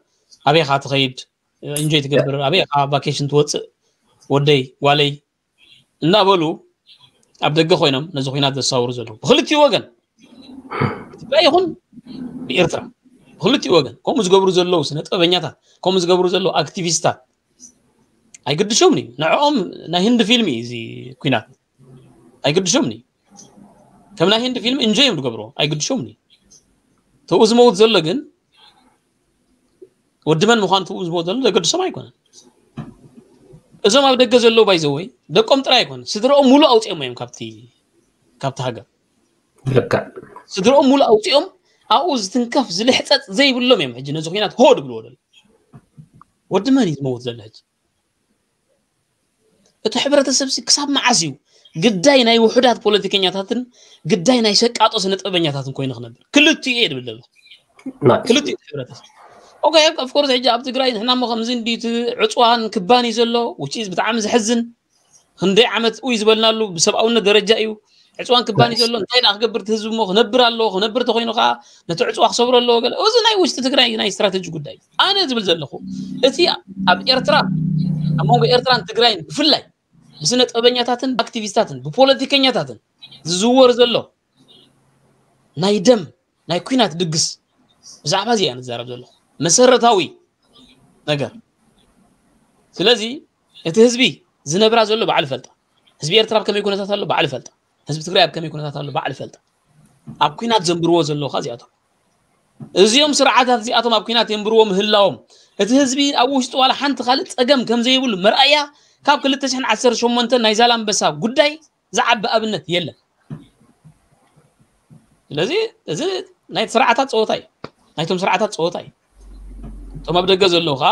ኣበይ ኻ ትኸይድ እንጆይ ትገብር ኣበይ ኻ ቫኬሽን ትወፅእ ወደይ ጓለይ እናበሉ ኣብ ደገ ኮይኖም ነዚ ኩናት ዘሳውሩ ዘለዉ ብክልቲኡ ወገን ኢትዮጵያ ይኹን ብኤርትራ ብክልቲኡ ወገን ከምኡ ዝገብሩ ዘለዉ ስነ ጥበበኛታት ከምኡ ዝገብሩ ዘለዉ ኣክቲቪስታት ኣይግድሾምን እዩ ንዕኦም ናይ ህንዲ ፊልም እዩ እዚ ኩናት ኣይግድሾምን እዩ ከም ናይ ህንዲ ፊልም እንጆይ እዮም ዝገብርዎ ኣይግድሾምን እዩ ተኡ ዝመውት ዘሎ ግን ወዲ መን ምዃኑ ትብኡ ዝበሉ ዘሎ ዘገድሶም ኣይኮነን እዞም ኣብ ደገ ዘለዉ ባይዘወይ ደቆም ጥራይ ኣይኮነ ስድረኦም ሙሉእ ኣውፅኦም እዮም ካብቲ ካብቲ ሃገር ልክዕ ስድረኦም ሙሉእ ኣውፅኦም ኣብኡ ዝትንከፍ ዝልሕፀፅ ዘይብሎም እዮም ሕጂ ነዚ ኩናት ሆ ድብልዎ ዘሎ ወዲ መን እዩ ዝመውት ዘሎ ሕጂ እቲ ሕብረተሰብ ክሳብ መዓስ እዩ ግዳይ ናይ ውሑዳት ፖለቲከኛታትን ግዳይ ናይ ሸቃጦ ስነ ጥበበኛታትን ኮይኑ ክነብር ክልቲኡ እየ ድብል ዘለኹ ክልቲኡ ሕብረተሰብ ኦኬ ኦፍኮርስ ሕጂ ኣብ ትግራይ ንሕና ሞ ከምዚ እንዲ እቲ ዕፅዋን ክባን እዩ ዘሎ ውጪ ብጣዕሚ ዘሕዝን ክንደይ ዓመት ኡይ ዝበልናሉ ብሰብኣውነት ደረጃ እዩ ዕፅዋን ክባን እዩ ዘሎ እንታይ ደኣ ክገብር እቲ ህዝቢ ሞ ክነብር ኣለዎ ክነብር ተኮይኑ ከዓ ነቲ ዕፅዋ ክሰብሮ ኣለዎ ገለ እዚ ናይ ውሽጢ ትግራይ ናይ ስትራተጂ ጉዳይ እዩ ኣነ ዝብል ዘለኹ እቲ ኣብ ኤርትራ ኣብ መንጎ ኤርትራን ትግራይን ብፍላይ ብስነ ጥበበኛታትን ብኣክቲቪስታትን ብፖለቲከኛታትን ዝዝወር ዘሎ ናይ ደም ናይ ኩናት ድግስ ብዛዕባ እዚ እያ ንዛረብ ዘለኹ መሰረታዊ ነገር ስለዚ እቲ ህዝቢ ዝነብራ ዘሎ ባዕሉ ፈልጣ ህዝቢ ኤርትራ ኣብ ከመይ ኩነታት ኣሎ ባዕሉ ፈልጣ ህዝቢ ትግራይ ኣብ ከመይ ኩነታት ኣሎ ባዕሉ ፈልጣ ኣብ ኩናት ዘንብርዎ ዘለዉ ከ እዚኣቶም እዚኦም ስርዓታት እዚኣቶም ኣብ ኩናት የንብርዎ ምህላዎም እቲ ህዝቢ ኣብ ውሽጡ ዋላ ሓንቲ ካልእ ፀገም ከም ዘይብሉ መርኣያ ካብ ክልተ ሽሕን ዓሰርተ ሸሞንተን ናይ ዛላምበሳ ጉዳይ ዝዓቢ ኣብነት የለን ስለዚ እዚ ናይ ስርዓታት ፀወታ እዩ ናይቶም ስርዓታት ፀወታ እዩ እቶም ኣብ ደገ ዘለዉ ከዓ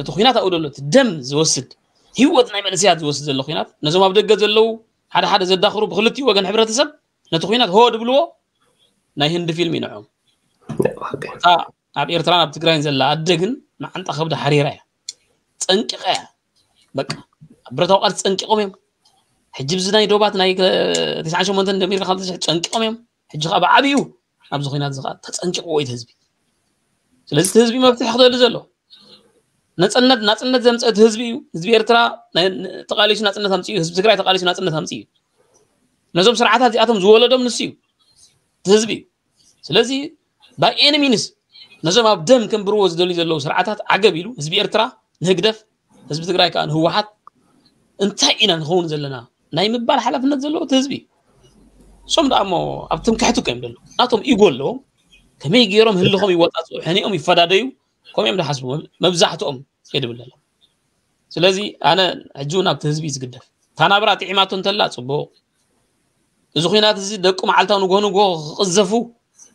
እቲ ኩናት ኣብኡ ዘሎ እቲ ደም ዝወስድ ህይወት ናይ መንእሰያት ዝወስድ ዘሎ ኩናት ነዞም ኣብ ደገ ዘለዉ ሓደ ሓደ ዘዳኽሩ ብክልቲኡ ወገን ሕብረተሰብ ነቲ ኩናት ሆ ድብልዎ ናይ ህንዲ ፊልም ይንዖም እታ ኣብ ኤርትራን ኣብ ትግራይን ዘላ ኣደ ግን መዓንጣ ከብዳ ሓሪራ እያ ጸንቂቐ እያ። በቃ ብረታዊ ቃልሲ ጸንቂቖም እዮም። ሕጂ ብዚ ናይ ዶባት ናይ ከ-፣ ተስዓን ሸሞንተን ጀሚርካ ካብ ተስዓ ጸንቂቖም እዮም። ሕጂ ከዓ ብዓብዩ ኣብዚ ኹናት እዚ ከዓ ተጸንቂቑዎ እዩ እቲ ህዝቢ። ስለዚ እቲ ህዝቢ መፍትሒ ክደሊ ዘሎ ነጸነት ናጽነት ዘምፀ እቲ ህዝቢ እዩ። ህዝቢ ኤርትራ ናይ- ተቃሊሱ ናጽነት ኣምፅኡ፣ ህዝቢ ትግራይ ተቃሊሱ ናጽነት ኣምፅኡ እዩ። ነዞም ስርዓታት እዚኣቶም ዝወለዶም ንሱ እዩ፣ እቲ ህዝቢ እዩ። ስለዚ by any means ነዞም ኣብ ደም ከንብርዎ ዝደልዩ ዘለዉ ስርዓታት ዓገብ ኢሉ ህዝቢ ኤርትራ ንህግደፍ፣ ህዝቢ ትግራይ ከዓ ንህወሓት እንታይ ኢና ንኸውን ዘለና ናይ ምባል ሓላፍነት ዘለዎ እቲ ህዝቢ እዩ። እሶም ደኣ እሞ ኣብ ትምክሕቲ እኮ እዮም ዘለዉ። ናቶም ኢጎ ኣለዎም። ከመይ ገይሮም ህልኾም ይወጣፅኡ፣ ሕኒኦም ይፈዳደዩ፣ ከምኡ እዮም ዝሓስቡ መብ- መብዛሕትኦም የድብል ዘለዉ። ስለዚ ኣነ ሕጂ እውን ኣብቲ ህዝቢ እዩ ዝግደፍ። እታ ናብራ ጥዒማቶ እንተላ ፅቡቕ፣ እዚ ኹናት እዚ ደቁ መዓልታዊ ንግሆ ንግሆ ክቕዘፉ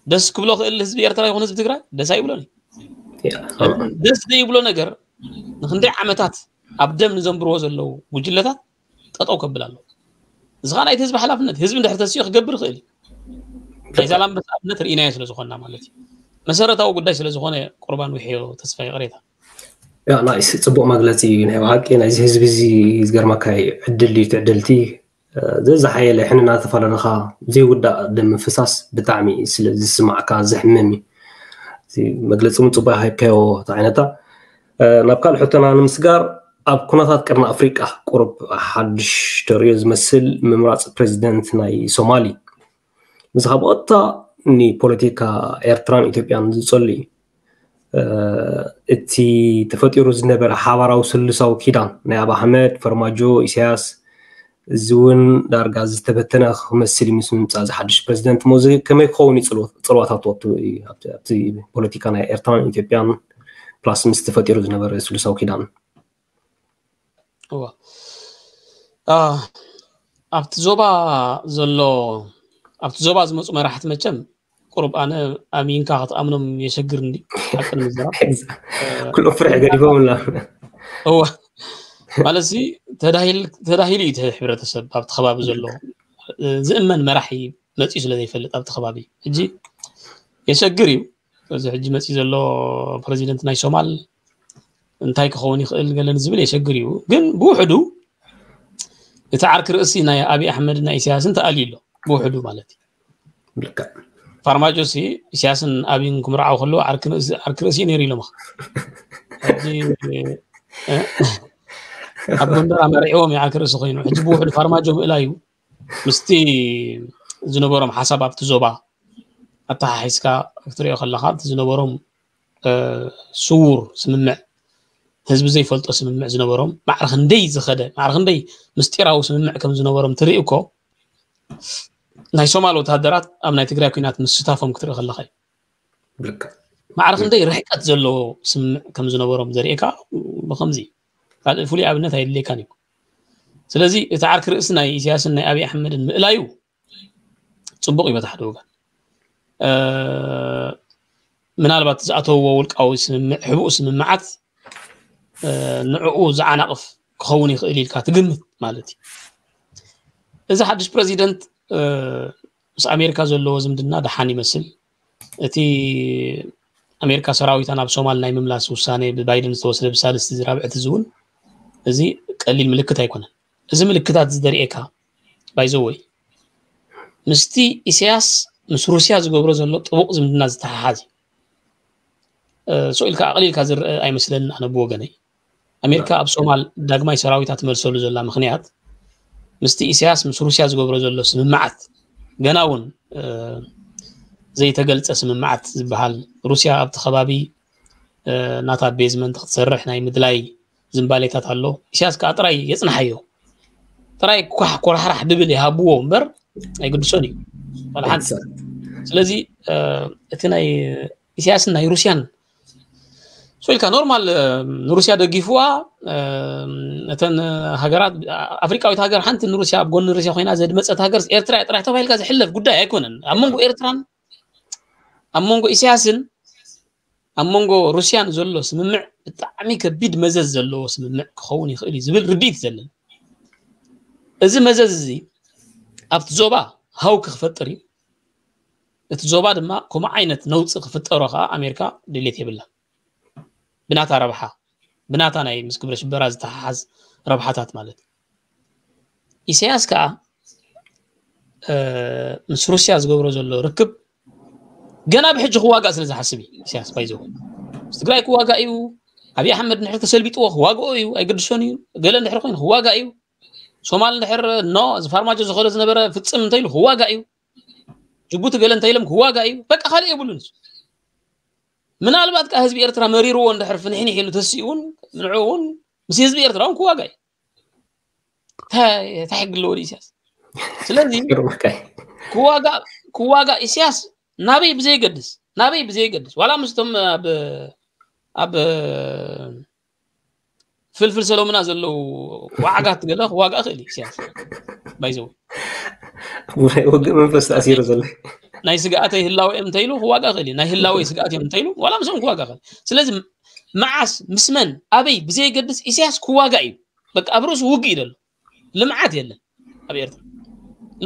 ደስ ክብሎ ክእል ህዝቢ ኤርትራ ይኹን ህዝቢ ትግራይ ደስ ኣይብሎን እዩ። ደስ ዘይብሎ ነገር ንክንደይ ዓመታት ኣብ ደም ንዘንብርዎ ዘለዉ ጉጅለታት ጠጠው ከብል ኣለዎ። እዚ ከዓ ናይቲ ህዝቢ ሓላፍነት፣ ህዝቢ እንድሕር ተሲኡ ክገብር ይኽእል እዩ። ናይ ዛላምበሳ ኣብነት ርኢናዮ ስለ ዝኾንና ማለት እዩ። መሰረታዊ ጉዳይ ስለ ዝኾነ ቁርባን ውሕዮ ተስፋ ይቕሬታ። ያ ናይስ ጽቡቕ መግለጺ እዩ። ናይ ብሓቂ ናይዚ ህዝቢ እዚ ዝገርመካ እዩ። ዕድል እዩ ትዕድልቲ ዘዝሓየለ ሕንና ተፈላለኻ ዘይውዳእ ደም ምፍሳስ ብጣዕሚ ስለ ዝስማዕካ ዘሕምም እዩ። እዚ መግለፂ እውን ፅቡቅ ሃይብካዮ ተዓይነታ። ናብ ካልእ ሕቶና ንምስጋር ኣብ ኩነታት ቀርኒ ኣፍሪቃ ቁሩብ ሓድሽ ተርእዮ ዝመስል ምምራፅ ፕሬዚደንት ናይ ሶማሊ ምስኻ ብቐጥታ ንፖለቲካ ኤርትራን ኢትዮጵያን ዝፀሉ እዩ። እቲ ተፈጢሩ ዝነበረ ሓባራዊ ስሉሳዊ ኪዳን ናይ ኣብ ኣሕመድ ፈርማጆ ኢሳያስ እዚ እውን ዳርጋ ዝተበተነ ክመስል እዩ ምስ ምምፃእ እዚ ሓድሽ ፕሬዚደንት እሞ እዚ ከመይ ክኸውን እዩ ፅልዋታቱ ኣብቲ ፖለቲካ ናይ ኤርትራን ኢትዮጵያን ፕላስ ምስ ተፈጢሩ ዝነበረ ስሉሳዊ ኪዳን ኣብቲ ዞባ ዘሎ ኣብቲ ዞባ ዝመፁ መራሕቲ መቸም ቁሩብ ኣነ ኣሚንካ ክትኣምኖም የሸግር እንዲ ሓቂ ንምዝራብ ኩሎም ፍርሒ ገዲፎም ኣላ እወ ማለት ሲ ተዳሂሉ እዩ እቲ ሕብረተሰብ ኣብቲ ከባቢ ዘሎ ዝእመን መራሒ መፅኡ ስለ ዘይፈልጥ ኣብቲ ከባቢ ሕጂ የሸግር እዩ እዚ ሕጂ መፅኡ ዘሎ ፕረዚደንት ናይ ሶማል እንታይ ክኸውን ይኽእል ገለን ዝብል የሸግር እዩ ግን ብውሕዱ እቲ ዓርኪ ርእሲ ናይ ኣብይ ኣሕመድ ናይ ኢሳያስን ተኣልዩ ኣሎ ብውሕዱ ማለት እዩ ፋርማጆ ሲ ኢሳያስን ኣብይን ክምርዓው ከለዉ ዓርኪ ርእሲ ነይሩ ኢሎም ኣብ ጎንደር ኣመሪዕዎም ዓርኪ ርእሲ ኮይኑ ሕጂ ብውሕዱ ፋርማጆ ምእላዩ ምስቲ ዝነበሮም ሓሳብ ኣብቲ ዞባ ኣተሓሒዝካ ክትሪኦ ከለካ እቲ ዝነበሮም ስውር ስምምዕ ህዝቢ ዘይፈልጦ ስምምዕ ዝነበሮም ማዕረ ክንደይ ዝኸደ ማዕረ ክንደይ ምስጢራዊ ስምምዕ ከም ዝነበሮም ትርኢ እኮ ናይ ሶማል ወታደራት ኣብ ናይ ትግራይ ኩናት ምስታፎም ክትርኢ ከለካ እዩ ማዕረ ክንደይ ርሕቀት ዘለዎ ስምምዕ ከም ዝነበሮም ዘርእካ ብከምዚ ካልእ ፍሉይ ኣብነት ኣየድልየካን እዩ ስለዚ እቲ ዓርኪ ርእሲ ናይ ኢሳያስን ናይ ኣብይ ኣሕመድን ምእላዩ ፅቡቅ እዩ በቲ ሓደ ወገን ምናልባት ዝኣተውዎ ውልቃዊ ስምምዕ ሕቡእ ስምምዓት ንዕኡ ዝዓናቕፍ ክኸውን ይኽእል ኢልካ ትግምት ማለት እዩ እዚ ሓድሽ ፕረዚደንት ምስ ኣሜሪካ ዘለዎ ዝምድና ደሓን ይመስል እቲ ኣሜሪካ ሰራዊታ ናብ ሶማል ናይ ምምላስ ውሳነ ብባይደን ዝተወስደ ብሳልስቲ ዝራብዕቲ ዝውን እዚ ቀሊል ምልክት ኣይኮነን እዚ ምልክታት ዝደርእካ ባይዘወይ ምስቲ ኢሳያስ ምስ ሩስያ ዝገብሮ ዘሎ ጥቡቕ ዝምድና ዝተሓሓዝ እዩ ስኢልካ ኣቕሊልካ ዝረአ ኣይመስለንን ኣነ ብወገነይ ኣሜሪካ ኣብ ሶማል ዳግማይ ሰራዊታ ትመልሰሉ ዘላ ምክንያት ምስቲ ኢሳያስ ምስ ሩስያ ዝገብሮ ዘሎ ስምምዓት ገና እውን ዘይተገልፀ ስምምዓት ዝበሃል ሩስያ ኣብቲ ከባቢ ናታ ቤዝመንት ክትሰርሕ ናይ ምድላይ ዝንባሌታት ኣሎ ኢሳያስ ከዓ ጥራይ የፅንሓዮ ጥራይ ኳሕ ኮራሕራሕ ድብል ይሃብዎ እምበር ኣይግድሶን እዩ ሓንቲ ስለዚ እቲ ናይ ኢሳያስን ናይ ሩስያን ሶ ኢልካ ኖርማል ንሩስያ ደጊፍዋ እተን ሃገራት ኣፍሪቃዊት ሃገር ሓንቲ ንሩስያ ኣብ ጎኒ ሩስያ ኮይና ዘድመፀት ሃገር ኤርትራ ጥራሕ ተባሂልካ ዝሕለፍ ጉዳይ ኣይኮነን ኣብ መንጎ ኤርትራን ኣብ መንጎ ኢሳያስን ኣብ መንጎ ሩስያን ዘሎ ስምምዕ ብጣዕሚ ከቢድ መዘዝ ዘለዎ ስምምዕ ክኸውን ይኽእል እዩ ዝብል ርድኢት ዘለን እዚ መዘዝ እዚ ኣብቲ ዞባ ሃው ክፈጥር እዩ እቲ ዞባ ድማ ከምኡ ዓይነት ነውፂ ክፍጠሮ ከዓ ኣሜሪካ ድሌት የብላ ብናታ ረብሓ ብናታ ናይ ምስ ግብረ ሽበራ ዝተሓሓዝ ረብሓታት ማለት እዩ። ኢሳያስ ከዓ ምስ ሩስያ ዝገብሮ ዘሎ ርክብ ገና ብሕጂ ክዋጋእ ስለ ዝሓስብ እዩ። ኢሳያስ ባይዘው ምስ ትግራይ ክዋጋእ እዩ። ኣብይ ኣሕመድ እንድሕር ተሰልቢጥዎ ክዋግኦ እዩ፣ ኣይገድሶን እዩ። ገለ እንድሕር ኮይኑ ክዋጋእ እዩ። ሶማል እንድሕር ኖ እዚ ፋርማጆ ዝኸሎ ዝነበረ ፍጽም እንተኢሉ ክዋጋእ እዩ። ጅቡቲ ገለ እንተኢሎም ክዋጋእ እዩ። በቃ ካልእ የብሉን። ምናልባት ከዓ ህዝቢ ኤርትራ መሪርዎ እንድሕር ፍንሕንሕ ኢሉ ተሲኡ እውን ንዕኡ እውን ምስ ህዝቢ ኤርትራ እውን ክዋጋእ እዩ። እንታይ ሕጊ ኣለዎ ኢሳያስ? ስለዚ ክዋጋእ ክዋጋእ ኢሳያስ ናበይ ብዘይገድስ ናበይ ብዘይገድስ ዋላ ምስቶም ኣብ ኣብ ፍልፍል ሰሎምና ዘለዉ ዋዕጋት ገለ ክዋጋእ ክእል ኢሳያስ ባይዘው ውግእ መንፈስ ተኣሲሩ ዘሎ ናይ ስግኣተይ ህላወ እዮም እንተኢሉ ክዋጋእ ክእል ናይ ህላወይ ስግኣት እዮም እንተኢሉ ዋላ ምስኦም ክዋጋእ ክእል። ስለዚ መዓስ ምስ መን ኣበይ ብዘይገድስ ኢሳያስ ክዋጋእ እዩ። በቃ ኣብ ርእሱ ውግእ እዩ ዘሎ። ልምዓት የለን ኣብ ኤርትራ።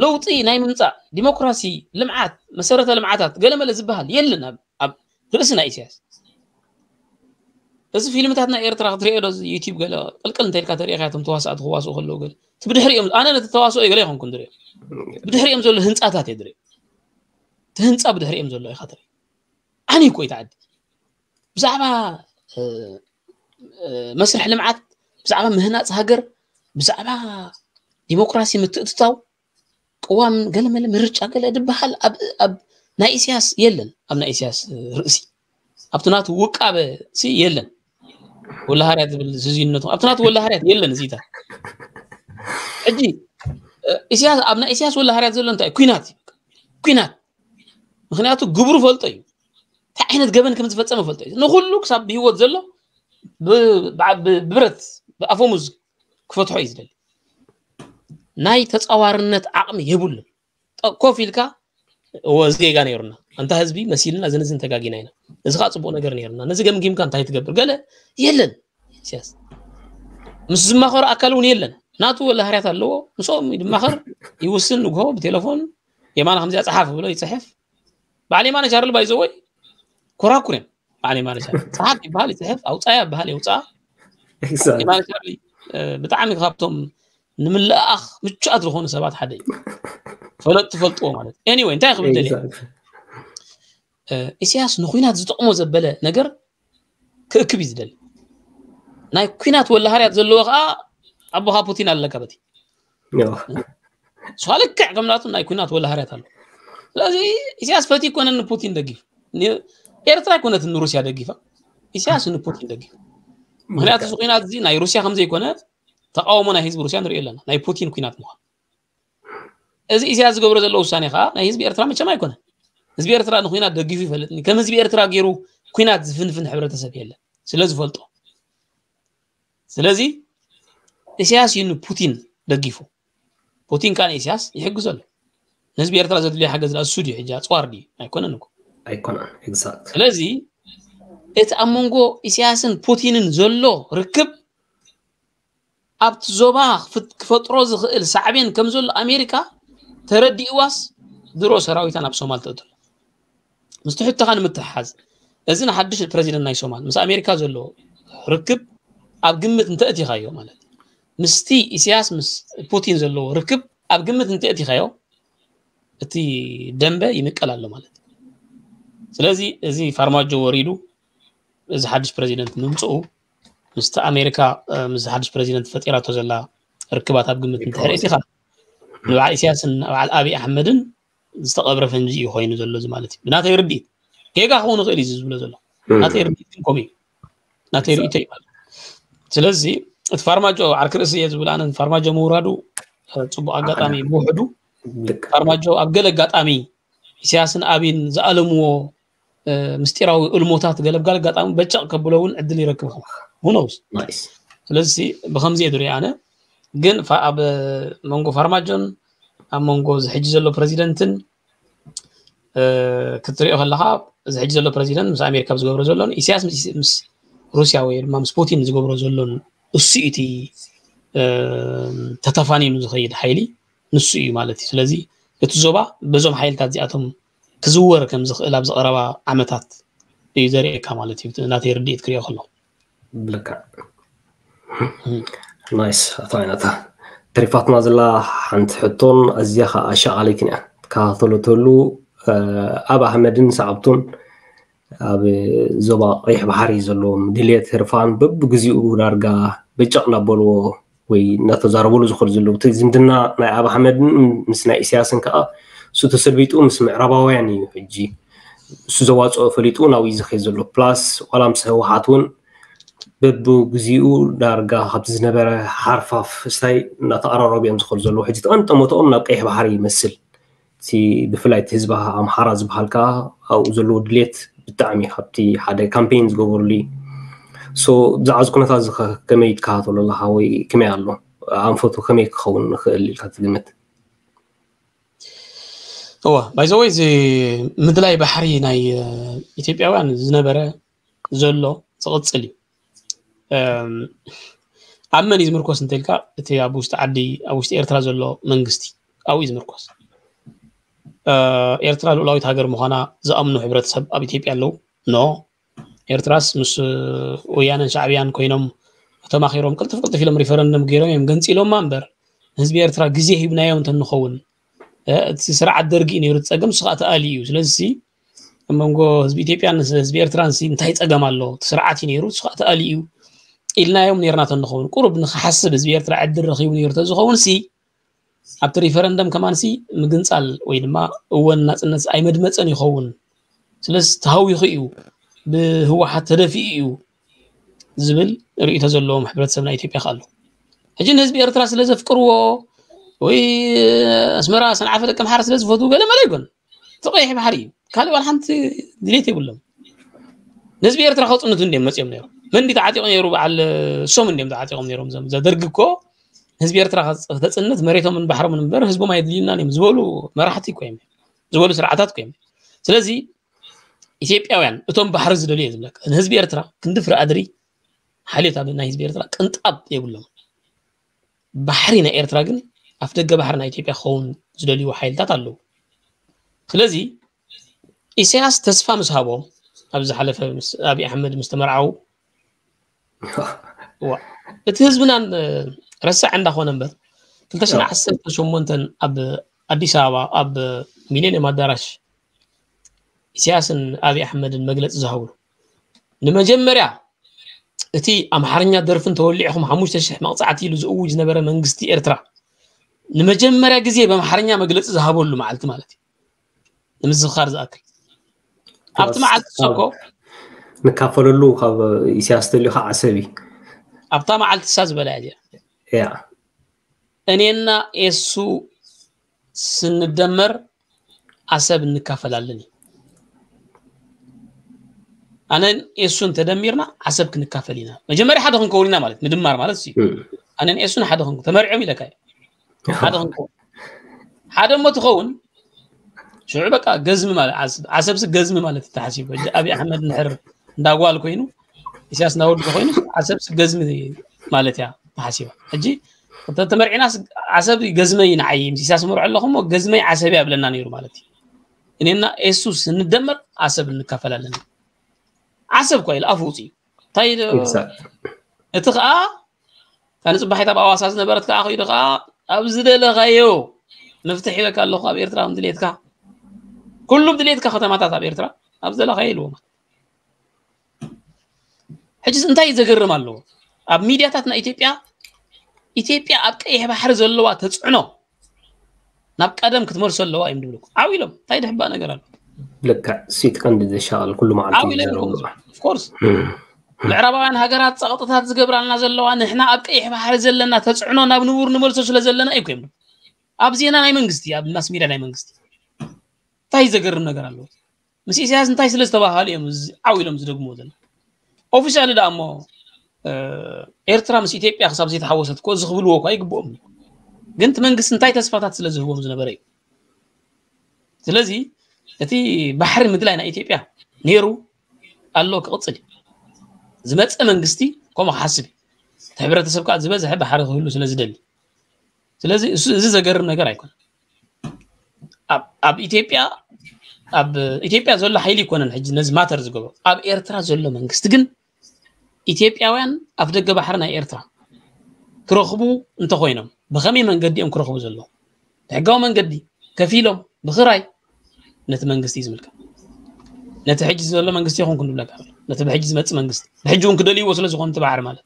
ለውጢ ናይ ምምፃእ ዲሞክራሲ፣ ልምዓት፣ መሰረተ ልምዓታት ገለመለ ዝበሃል የለን ኣብ ርእሲ ናይ ኢሳያስ። እዚ ፊልምታት ናይ ኤርትራ ክትሪኦ ዶ ዩቲብ ገለ ቅልቅል እንተልካ ተሪኢካ እቶም ተዋሳእቲ ክዋስኡ ከለዉ ገለ እቲ ብድሕሪኦም ኣነ ነቲ ተዋስኦ ገለ ይኮንኩን ዝሪኦ ብድሕሪኦም ዘሎ ህንፃታት እየ ዝሪኦ። እቲ ህንፃ ብድሕሪኦም ዘሎ ኢካ ትርኢ። ዓንዩ እኮ እዩ እቲ ዓዲ ብዛዕባ መስርሕ ልምዓት፣ ብዛዕባ ምህናፅ ሃገር፣ ብዛዕባ ዲሞክራሲ ምትእትታው፣ ቅዋም ገለመለ ምርጫ ገለ ድበሃል ኣብ ናይ ኢሳያስ የለን። ኣብ ናይ ኢሳያስ ርእሲ ኣብቲ ናቱ ውቃበ ሲ የለን። ወላሃርያት ዝብል ዝዝይነቱ ኣብቲ ናቱ ወላሃርያት የለን። እዚታ ሕጂ ኢሳያስ ኣብ ናይ ኢሳያስ ወላሃርያት ዘሎ እንታይ ኩናት ኩናት ምክንያቱ ግብሩ ፈልጦ እዩ። እንታይ ዓይነት ገበን ከም ዝፈፀመ ፈልጦ እዩ። ንኩሉ ክሳብ ብህይወት ዘሎ ብብረት ብኣፈሙዝ ክፈትሖ እዩ ዝደሊ። ናይ ተፃዋርነት ዓቕሚ የብሉን። ኮፍ ኢልካ እወ እዚ ጌጋ ነይሩና፣ ኣንታ ህዝቢ መሲልና፣ እዚ ንዝን ተጋጊና ኢና፣ እዚ ከዓ ፅቡቅ ነገር ነይሩና፣ ነዚ ገምጊምካ እንታይ ትገብር ገለ የለን። ኢሳያስ ምስ ዝማኸሩ ኣካል እውን የለን። ናቱ ወላሃርያት ኣለዎ፣ ምስኦም ይድማኸር፣ ይውስን፣ ንግሆ ብቴሌፎን የማነ ከምዚኣ ፀሓፍ ብሎ ይፅሕፍ። በዓል የማነ ቻርሊ ባይዘወይ ኮራኩር እዮም። በዓል የማነ ቻርሊ ፀሓፍ ይበሃል ይፅሕፍ፣ ኣውፃያ ይበሃል የውፅኣ። የማነ ቻርሊ ብጣዕሚ ካብቶም ንምልኣኽ ምቹኣት ዝኾኑ ሰባት ሓደ እዩ። ፈለጥ ትፈልጥዎ ማለት ኤኒወይ እንታይ ክብል ደልየ ኢሳያስ ንኩናት ዝጠቕሞ ዘበለ ነገር ክእክብ እዩ ዝደሊ። ናይ ኩናት ወላሃርያት ዘለዎ ከዓ ኣቦኻ ፑቲን ኣለካ በቲ እሷ ልክዕ ከም ናቱ ናይ ኩናት ወላሃርያት ኣሎ። ስለዚ ኢሳያስ ፈቲ ይኮነ ንፑቲን ደጊፍ ኤርትራ ይኮነት ንሩስያ ደጊፋ ኢሳያስ ንፑቲን ደጊፍ ምክንያቱ እዚ ኩናት እዚ ናይ ሩስያ ከምዘይኮነ ተቃውሞ ናይ ህዝቢ ሩስያ ንሪኦ ኣለና ናይ ፑቲን ኩናት ምኳን። እዚ ኢሳያስ ዝገብሮ ዘሎ ውሳኔ ከዓ ናይ ህዝቢ ኤርትራ መቸም ኣይኮነን። ህዝቢ ኤርትራ ንኩናት ደጊፉ ይፈልጥኒ ከም ህዝቢ ኤርትራ ገይሩ ኩናት ዝፍንፍን ሕብረተሰብ የለን ስለ ዝፈልጦ። ስለዚ ኢሳያስ እዩ ንፑቲን ደጊፉ። ፑቲን ከዓ ንኢሳያስ ይሕግዞ ኣሎ። ንህዝቢ ኤርትራ ዘድልዮ ሓገዝ እሱ ድዩ ሕጂ ኣፅዋር ድዩ ኣይኮነን እኮ። ኣይኮነን። ስለዚ እቲ ኣብ መንጎ ኢሳያስን ፑቲንን ዘሎ ርክብ ኣብቲ ዞባ ክፈጥሮ ዝኽእል ሳዕቤን ከም ዘሎ ኣሜሪካ ተረዲእዋስ ድሮ ሰራዊታ ናብ ሶማል ተእትሎ። ምስቲ ሕቶኻ ንምትሕሓዝ እዚ ንሓድሽ ፕረዚደንት ናይ ሶማል ምስ ኣሜሪካ ዘለዎ ርክብ ኣብ ግምት እንተእቲኻዮ ማለት ምስቲ ኢሳያስ ምስ ፑቲን ዘለዎ ርክብ ኣብ ግምት እንተእቲኻዮ እቲ ደንበ ይምቀል ኣሎ ማለት እዩ። ስለዚ እዚ ፋርማጆ ወሪዱ እዚ ሓድሽ ፕረዚደንት ምምፅኡ ምስቲ ኣሜሪካ ምስ ሓድሽ ፕረዚደንት ፈጢራቶ ዘላ ርክባት ኣብ ግምት እንተሕርኢት ኢኻ ንበዓል ኢሳያስን በዓል ኣብይ ኣሕመድን ዝተቐብረ ፈንጂ እዩ ኮይኑ ዘሎ እዚ ማለት እዩ ብናተይ ርድኢት። ጌጋ ክኸውን ይኽእል እዩ ዝብሎ ዘሎ ናተይ ርድኢት ግን ከምኡ እዩ። ናተይ ርእይቶ እዩ ማለት። ስለዚ እቲ ፋርማጆ ዓርኪ ርእሲ እየ ዝብል ኣነ ፋርማጆ ምውራዱ ፅቡቅ ኣጋጣሚ ብውሕዱ ፋርማጆ ኣብ ገለ ኣጋጣሚ ኢሳያስን ኣብይን ዝኣለምዎ ምስጢራዊ እልሞታት ገለብጋል ኣጋጣሚ በጨቕ ከብሎ እውን ዕድል ይረክብ ሁኖውስ። ስለዚ ብከምዚ እየ ዝሪኦ ኣነ። ግን ኣብ መንጎ ፋርማጆን ኣብ መንጎ እዚ ሕጂ ዘሎ ፕረዚደንትን ክትሪኦ ከለካ እዚ ሕጂ ዘሎ ፕረዚደንት ምስ ኣሜሪካ ዝገብሮ ዘሎን ኢሳያስ ምስ ሩስያ ወይ ድማ ምስ ፑቲን ዝገብሮ ዘሎን እሱ እቲ ተተፋኒኑ ዝኸይድ ሓይሊ ንሱ እዩ ማለት እዩ። ስለዚ እቲ ዞባ በዞም ሓይልታት እዚኣቶም ክዝወር ከም ዝኽእል ኣብዚ ቀረባ ዓመታት እዩ ዘርእየካ ማለት እዩ። ናተይ ርድኢት ክሪኦ ከሎ ልክዕ ናይስ። ኣቶ ዓይነታ፣ ተሪፋትና ዘላ ሓንቲ ሕቶን ኣዝያ ከዓ ኣሻቓሊትን እያ። ትከታተሎ ተሉ ኣብ ኣሕመድን ሰዓብቱን ኣብ ዞባ ቀይሕ ባሕሪ ዘለዎም ድልየት ህርፋን በብግዚኡ ዳርጋ በጨቕ እናበልዎ ወይ እናተዛረበሉ ዝኸዱ ዘለዉ፣ እቲ ዝምድና ናይ ኣብ ኣሕመድን ምስ ናይ ኢሳያስን ከዓ እሱ ተሰልቢጡ ምስ ምዕራባውያን እዩ። ሕጂ እሱ ዘዋፅኦ ፈሊጡ ናብኡ እዩ ዝኸድ ዘሎ። ፕላስ ዋላ ምስ ህወሓት እውን በብግዚኡ ዳርጋ ካብቲ ዝነበረ ሓርፋፍ ስታይ እናተቐራረቡ እዮም ዝኸዱ ዘለዉ። ሕጂ ተቐንጠመትኦም ናብ ቀይሕ ባሕሪ ይመስል። እቲ ብፍላይ እቲ ህዝቢ ኣምሓራ ዝበሃል ከዓ ኣብኡ ዘለዎ ድሌት ብጣዕሚ ካብቲ ሓደ ካምፔን ዝገበሩሉ እዩ። ሶ ብዛዕባ እዚ ኩነታት እዚ ከ ከመይ ትከታተሎ ኣለኻ ወይ ከመይ ኣሎ ኣንፈቱ ከመይ ክኸውን ንኽእል ኢልካ ትግምት? እወ፣ ባይዘወይ እዚ ምድላይ ባሕሪ ናይ ኢትዮጵያውያን ዝነበረ ዘሎ ዝቕፅል እዩ። ኣብ መን እዩ ዝምርኮስ እንተልካ፣ እቲ ኣብ ውሽጢ ዓዲ ኣብ ውሽጢ ኤርትራ ዘሎ መንግስቲ ኣብኡ እዩ ዝምርኮስ። ኤርትራ ልኡላዊት ሃገር ምዃና ዝኣምኑ ሕብረተሰብ ኣብ ኢትዮጵያ ኣለዉ። ኖ፣ ኤርትራስ ምስ ወያነን ሻዕብያን ኮይኖም ተማኺሮም ቅልጥፍ ቅልጥፍ ኢሎም ሪፈረንደም ገይሮም እዮም ገንፂሎማ እምበር፣ ንህዝቢ ኤርትራ ግዜ ሂብናዮ እንተንኸውን፣ እቲ ስርዓት ደርጊ እዩ ነይሩ እቲ ፀገም፣ ንሱ ከዓ ተኣልዩ እዩ። ስለዚ ኣብ መንጎ ህዝቢ ኢትዮጵያን ህዝቢ ኤርትራን እንታይ ፀገም ኣሎ? እቲ ስርዓት እዩ ነይሩ፣ ንሱ ከዓ ተኣልዩ እዩ ኢልናዮም ነይርና ተንኸውን፣ ቁሩብ ንክሓስብ ህዝቢ ኤርትራ ዕድል ረኺቡ ነይሩ ተዝኸውን ሲ ኣብቲ ሪፈረንደም ከማን ሲ ምግንፃል ወይ ድማ እወን ናፅነት ኣይመድመፀን ይኸውን። ስለዚ ተሃዊኹ እዩ፣ ብህወሓት ተደፊኡ እዩ ዝብል ርእይቶ ዘለዎም ሕብረተሰብ ናይ ኢትዮጵያ ከ ኣሎ። ሕጂ ንህዝቢ ኤርትራ ስለ ዘፍቅርዎ ወይ ኣስመራ ሰንዓፈ ደቂ ኣምሓራ ስለ ዝፈትዉ ገለ መለ ይኮን። እቲ ቀይሕ ባሕሪ እዩ። ካልእ ዋላ ሓንቲ ድሌት የብሎም። ንህዝቢ ኤርትራ ከፅንቱ እንዲም መፅኦም ነይሮም። መን እንዲ ተዓጢቑ ነይሩ? በዓል እሶም እንዲም ተዓጢቖም ነይሮም። እዞም ዘደርግ እኮ ህዝቢ ኤርትራ ከተፅንት መሬቶምን ባሕሮምን እምበር ህዝቦም ኣየድልዩናን እዮም ዝበሉ መራሕቲ እኮ እዮም፣ ዝበሉ ስርዓታት እኮ እዮም። ስለዚ ኢትዮጵያውያን እቶም ባሕሪ ዝደልዩ እየ ዝብለካ። ንህዝቢ ኤርትራ ክንዲ ፍረ ኣድሪ ሓልዮት ኣብ ናይ ህዝቢ ኤርትራ ቅንጣብ የብሎም። ባሕሪ ናይ ኤርትራ ግን ኣፍ ደገ ባሕሪ ናይ ኢትዮጵያ ክኸውን ዝደልዩ ሓይልታት ኣለዉ። ስለዚ ኢሳያስ ተስፋ ምስ ሃቦም፣ ኣብ ዝሓለፈ ምስ ኣብይ ኣሕመድ ምስ ተመርዓዉ፣ እቲ ህዝብናን ረሳዕ እንዳኾነ እምበር፣ ክልተ ሽሕን ዓሰርተ ሸሞንተን ኣብ ኣዲስ ኣበባ ኣብ ሚሌኒየም ኣዳራሽ ኢሳያስን ኣብይ ኣሕመድን መግለፂ ዝሃብሉ፣ ንመጀመርያ እቲ ኣምሓርኛ ደርፍን ተወሊዕኹም ሓሙሽተ ሽሕ መቕፃዕቲ ኢሉ ዝእውጅ ዝነበረ መንግስቲ ኤርትራ ንመጀመርያ ግዜ ብኣምሓርኛ መግለፂ ዝሃበሉ መዓልቲ ማለት እዩ። ንምዝኽኻር ዝኣክል ኣብቲ መዓልቲ ሰኮ ንካፈለሉ ካብ ኢሳያስ ተልዩ ከዓ ዓሰብ እዩ። ኣብታ መዓልቲ እሳ ዝበላ እያ እዚኣ። ያ እኔና ኤሱ ስንደመር ዓሰብ እንካፈላለን እዩ። ኣነን ኤሱን ተደሚርና ዓሰብ ክንካፈል ኢና። መጀመርያ ሓደ ክንከውን ኢና ማለት ምድማር ማለት እዩ። ኣነን ኤሱን ሓደ ክንከውን ተመሪዖም ኢለካ እዩ። ሓደ ክንከውን ሓደ እሞ ትኸውን ሽዑ በቃ ገዝሚ ማለት ዓሰብ ዓሰብሲ ገዝሚ ማለት ተሓሲቡ። ሕጂ ኣብይ ኣሕመድ እንድሕር እንዳጓል ኮይኑ ኢሳያስ እንዳወዱ ኮይኑ ዓሰብሲ ገዝሚ ማለት እያ ተሓሲባ። ሕጂ ተመርዒናስ ዓሰብ ገዝመይ ንዓይ ምስ ኢሳያስ መርዖ ኣለኹ እሞ ገዝመይ ዓሰብ እያ ብለና ነይሩ ማለት እዩ። እኔና ኤሱ ስንደመር ዓሰብ እንካፈላለን። ዓሰብ እኳ ኢሉ ኣፉ ውፅኡ እንታይ ኢሉ? Exact. እቲ ከዓ እታ ንፅባሒት ኣብ ኣዋሳ ዝነበረት ከዓ ከይዱ ከዓ ኣብ ዝደለኻዮ መፍትሕ ሂበካ ኣለኹ ኣብ ኤርትራ ከም ድሌትካ ኩሉ ድሌትካ ከተማታት ኣብ ኤርትራ ኣብ ዝደለኻዮ ኢልዎም። ሕጂስ እንታይ ዘገርም ኣለዎ? ኣብ ሚድያታት ናይ ኢትዮጵያ ኢትዮጵያ ኣብ ቀይሕ ባሕሪ ዘለዋ ተፅዕኖ ናብ ቀደም ክትመልሶ ኣለዋ እዮም ዝብሉ። ዓው ኢሎም እንታይ ድሕባእ ነገር ኣሎ? ልክዕ ሲት ቀንዲ ዘሻቐል ኩሉ መዓልቲ ዓው ኢሎም ይዛረቡ። ይኸምሱ። Of course ምዕራባውያን ሃገራት ፀቕጥታት ዝገብራልና ዘለዋ ንሕና ኣብ ቀይሕ ባሕሪ ዘለና ተፅዕኖ ናብ ንቡር ንመልሶ ስለ ዘለና እዩ እኮ እዮም። ኣብ ዜና ናይ መንግስቲ ኣብ ማስ ሚድያ ናይ መንግስቲ እንታይ ዘገርም ነገር ኣለዎ? ምስ ኢሳያስ እንታይ ስለ ዝተባሃሉ እዮም እዚ ዓው ኢሎም ዝደግምዎ ዘለዉ? ኦፊሻሊ ደኣ እሞ እ፣ ኤርትራ ምስ ኢትዮጵያ ክሳብ ዘይተሓወሰት እኮ እዚ ክብልዎ እኳ ይግብኦም እዩ። ግን እቲ መንግስቲ እንታይ ተስፋታት ስለ ዝህቦም ዝነበረ እዩ። ስለዚ እቲ ባሕሪ ምድላይ ናይ ኢትዮጵያ ነይሩ ኣሎ ክቕፅል እዩ። ዝመፀ መንግስቲ ከምኡ ክሓስብ እዩ። እቲ ሕብረተሰብ ከዓ ዝበዝሐ ባሕሪ ክህሉ ስለ ዝደሊ ስለዚ እሱ- እዚ ዘገርም ነገር ኣይኮነን። ኣብ- ኣብ ኢትዮጵያ ኣብ ኢትዮጵያ ዘሎ ሓይሊ ይኮነን ሕጂ ነዚ ማተር ዝገብሮ ኣብ ኤርትራ ዘሎ መንግስቲ ግን ኢትዮጵያውያን ኣፍ ደገ ባሕሪ ናይ ኤርትራ ክረኽቡ እንተኾይኖም ብኸመይ መንገዲ እዮም ክረኽቡ ዘለዎም? ብሕጋዊ መንገዲ ከፊሎም ብኽራይ ነቲ መንግስቲ እዩ ዝምልከት። ነቲ ሕጂ ዘሎ መንግስቲ ይኹን ክንብለካ ነቲ ብሕጂ ዝመፅእ መንግስቲ ብሕጂ እውን ክደልይዎ ስለ ዝኾኑ እቲ ባሕሪ ማለት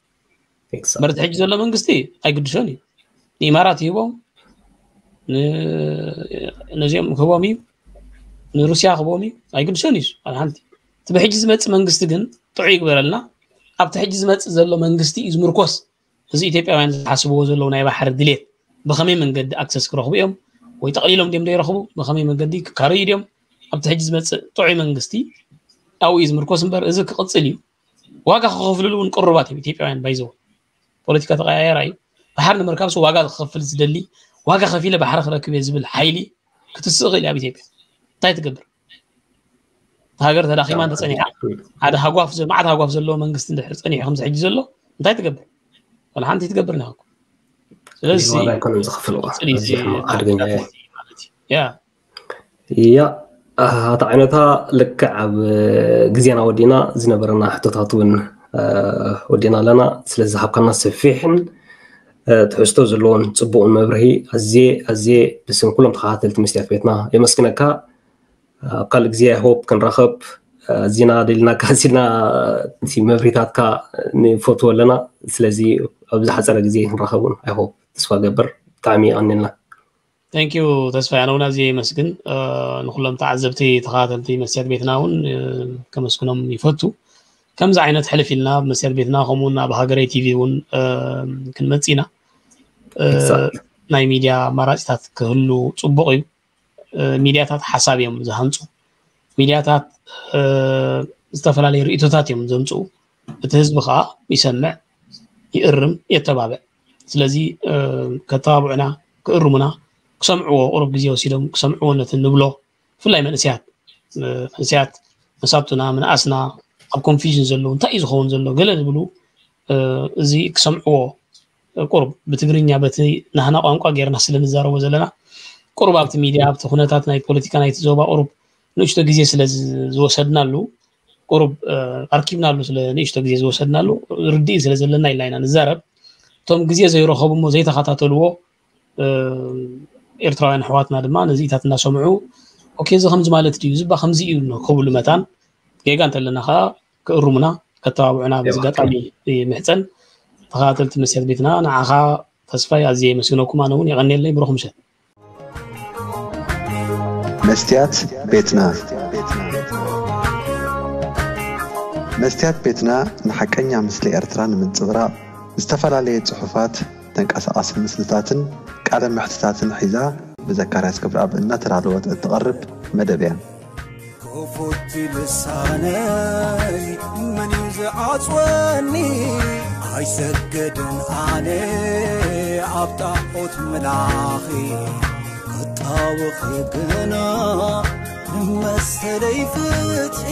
Exactly. በርቲ ሕጂ ዘሎ መንግስቲ ኣይግድሾን እዩ። ንኢማራት ይህቦም፣ ነዚኦም ክህቦም እዩ፣ ንሩስያ ክህቦም እዩ፣ ኣይግድሾን እዩ። ሓደ ሓንቲ እቲ ብሕጂ ዝመፅእ መንግስቲ ግን ጥዑ ይግበረልና። ኣብቲ ሕጂ ዝመፅእ ዘሎ መንግስቲ እዩ ዝምርኮስ። እዚ ኢትዮጵያውያን ዝሓስብዎ ዘለዉ ናይ ባሕሪ ድሌት ብኸመይ መንገዲ ኣክሰስ ክረኽቡ እዮም ወይ ጠቕሊሎም ድም ዘይረኽቡ ብኸመይ መንገዲ ክካረዩ ድም ኣብቲ ሕጂ ዝመፅእ ጥዑይ መንግስቲ ኣብኡ እዩ ዝምርኮስ እምበር እዚ ክቕፅል እዩ። ዋጋ ክኸፍልሉ እውን ቅሩባት እዮም ኢትዮጵያውያን ባይዘው ፖለቲካ ተቀያየራ እዩ። ባሕሪ ንምርካብ ሰው ዋጋ ክኸፍል ዝደሊ ዋጋ ከፊለ ባሕሪ ክረክብ እየ ዝብል ሓይሊ ክትስእ ክእል ኣብ ኢትዮጵያ እንታይ ትገብር? ሃገር ተዳኺማ እንተፀኒሓ ሓደ ሃጓፍ ማዓት ሃጓፍ ዘለዎ መንግስቲ እንድሕር ፀኒሑ ከምዚ ሕጂ ዘሎ እንታይ ትገብር? ወላ ሓንቲ ትገብር ናሃኩ ስለዚ ዋጋ ኣይኮነን ዝኸፍልዋ ፅሊ ኣዝዩ ሕማቕ ሓደገኛ እዩ። ያ ያ ኣታ ዓይነታ ልክዕ ኣብ ግዜና ወዲና ዝነበረና ሕቶታት እውን ወዲና ኣለና። ስለዚ ሃብካና ሰፊሕን ትሕዝቶ ዘለዎን ፅቡቕን መብርሂ ኣዝየ ኣዝየ ብስም ኩሎም ተኸታተልቲ መስትያት ቤትና የመስግነካ። ኣብ ካልእ ግዜ ሆፕ ክንራኸብ ኣዚና ደሊናካ ኣዚና እቲ መብሪታትካ ንፈትዎ ኣለና። ስለዚ ኣብ ዝሓፀረ ግዜ ክንራኸብ እውን ኣይሆፕ ተስፋ ገብር። ብጣዕሚ ይቐንልና። Thank you ተስፋ ያነውና እዚ ይመስግን። ንኩሎም ተዓዘብቲ ተኸታተልቲ መስትያት ቤትና እውን ከመስግኖም ይፈቱ። ከምዚ ዓይነት ሕልፍ ኢልና ኣብ መስትያት ቤትና ከምኡውን ኣብ ሃገረይ ቲቪ እውን ክንመፅ ኢና። ናይ ሚድያ ኣማራፂታት ክህሉ ፅቡቕ እዩ። ሚድያታት ሓሳብ እዮም ዝሃንፁ። ሚድያታት ዝተፈላለዩ ርእቶታት እዮም ዘምፅኡ። እቲ ህዝቢ ከዓ ይሰምዕ፣ ይእርም፣ የተባብዕ። ስለዚ ከተባብዑና፣ ክእርሙና፣ ክሰምዕዎ ቁሩብ ግዜ ወሲዶም ክሰምዕዎ ነቲ ንብሎ ብፍላይ መንእሰያት መንእሰያት መሳብትና ምንኣስና ኣብ ኮንፊዥን ዘለዉ እንታይ እዩ ዝኸውን ዘሎ ገለ ዝብሉ እዚ ክሰምዕዎ ቁሩብ ብትግርኛ በቲ ናህና ቋንቋ ጌርና ስለ ንዛረቦ ዘለና ቁሩብ ኣብቲ ሚድያ ኣብቲ ኩነታት ናይ ፖለቲካ ናይቲ ዞባ ቁሩብ ንእሽቶ ግዜ ስለ ዝወሰድናሉ ቁሩብ ኣርኪብናሉ ስለ ንእሽቶ ግዜ ዝወሰድናሉ ርድኢት ስለ ዘለና ኢልና ኢና ንዛረብ። እቶም ግዜ ዘይረኸቡ እሞ ዘይተኸታተልዎ ኤርትራውያን ኣሕዋትና ድማ ነዚኢታት እናሰምዑ ኦኬ እዚ ከምዚ ማለት ድዩ ዝባ ከምዚ እዩ ክብሉ መታን ጌጋ እንተለና ከዓ ክእርሙና ከተባብዑና በዚ ኣጋጣሚ ይምሕፀን። ተኸታተልቲ መስትያት ቤትና ንዓኻ ተስፋይ ኣዝየ የመስግነኩም። ኣነ እውን የቐንየለይ። ብሩኽ ምሸት። መስትያት ቤትና መስትያት ቤትና ንሓቀኛ ምስሊ ኤርትራ ንምንጽብራቕ ዝተፈላለየ ጽሑፋት፣ ተንቀሳቓሲ ምስልታትን ቃለ መሕትታትን ሒዛ ብዘካርያስ ክብረኣብ እናተዳለወት እትቐርብ መደብ እያ። ክፉት ልሳነይ መን እዩ ዝዓጽወኒ? ኣይሰግድን ኣነ ኣብ ጣዖት ምላኺ ክጣወኺ ግና ንመሰለይ ፍትሒ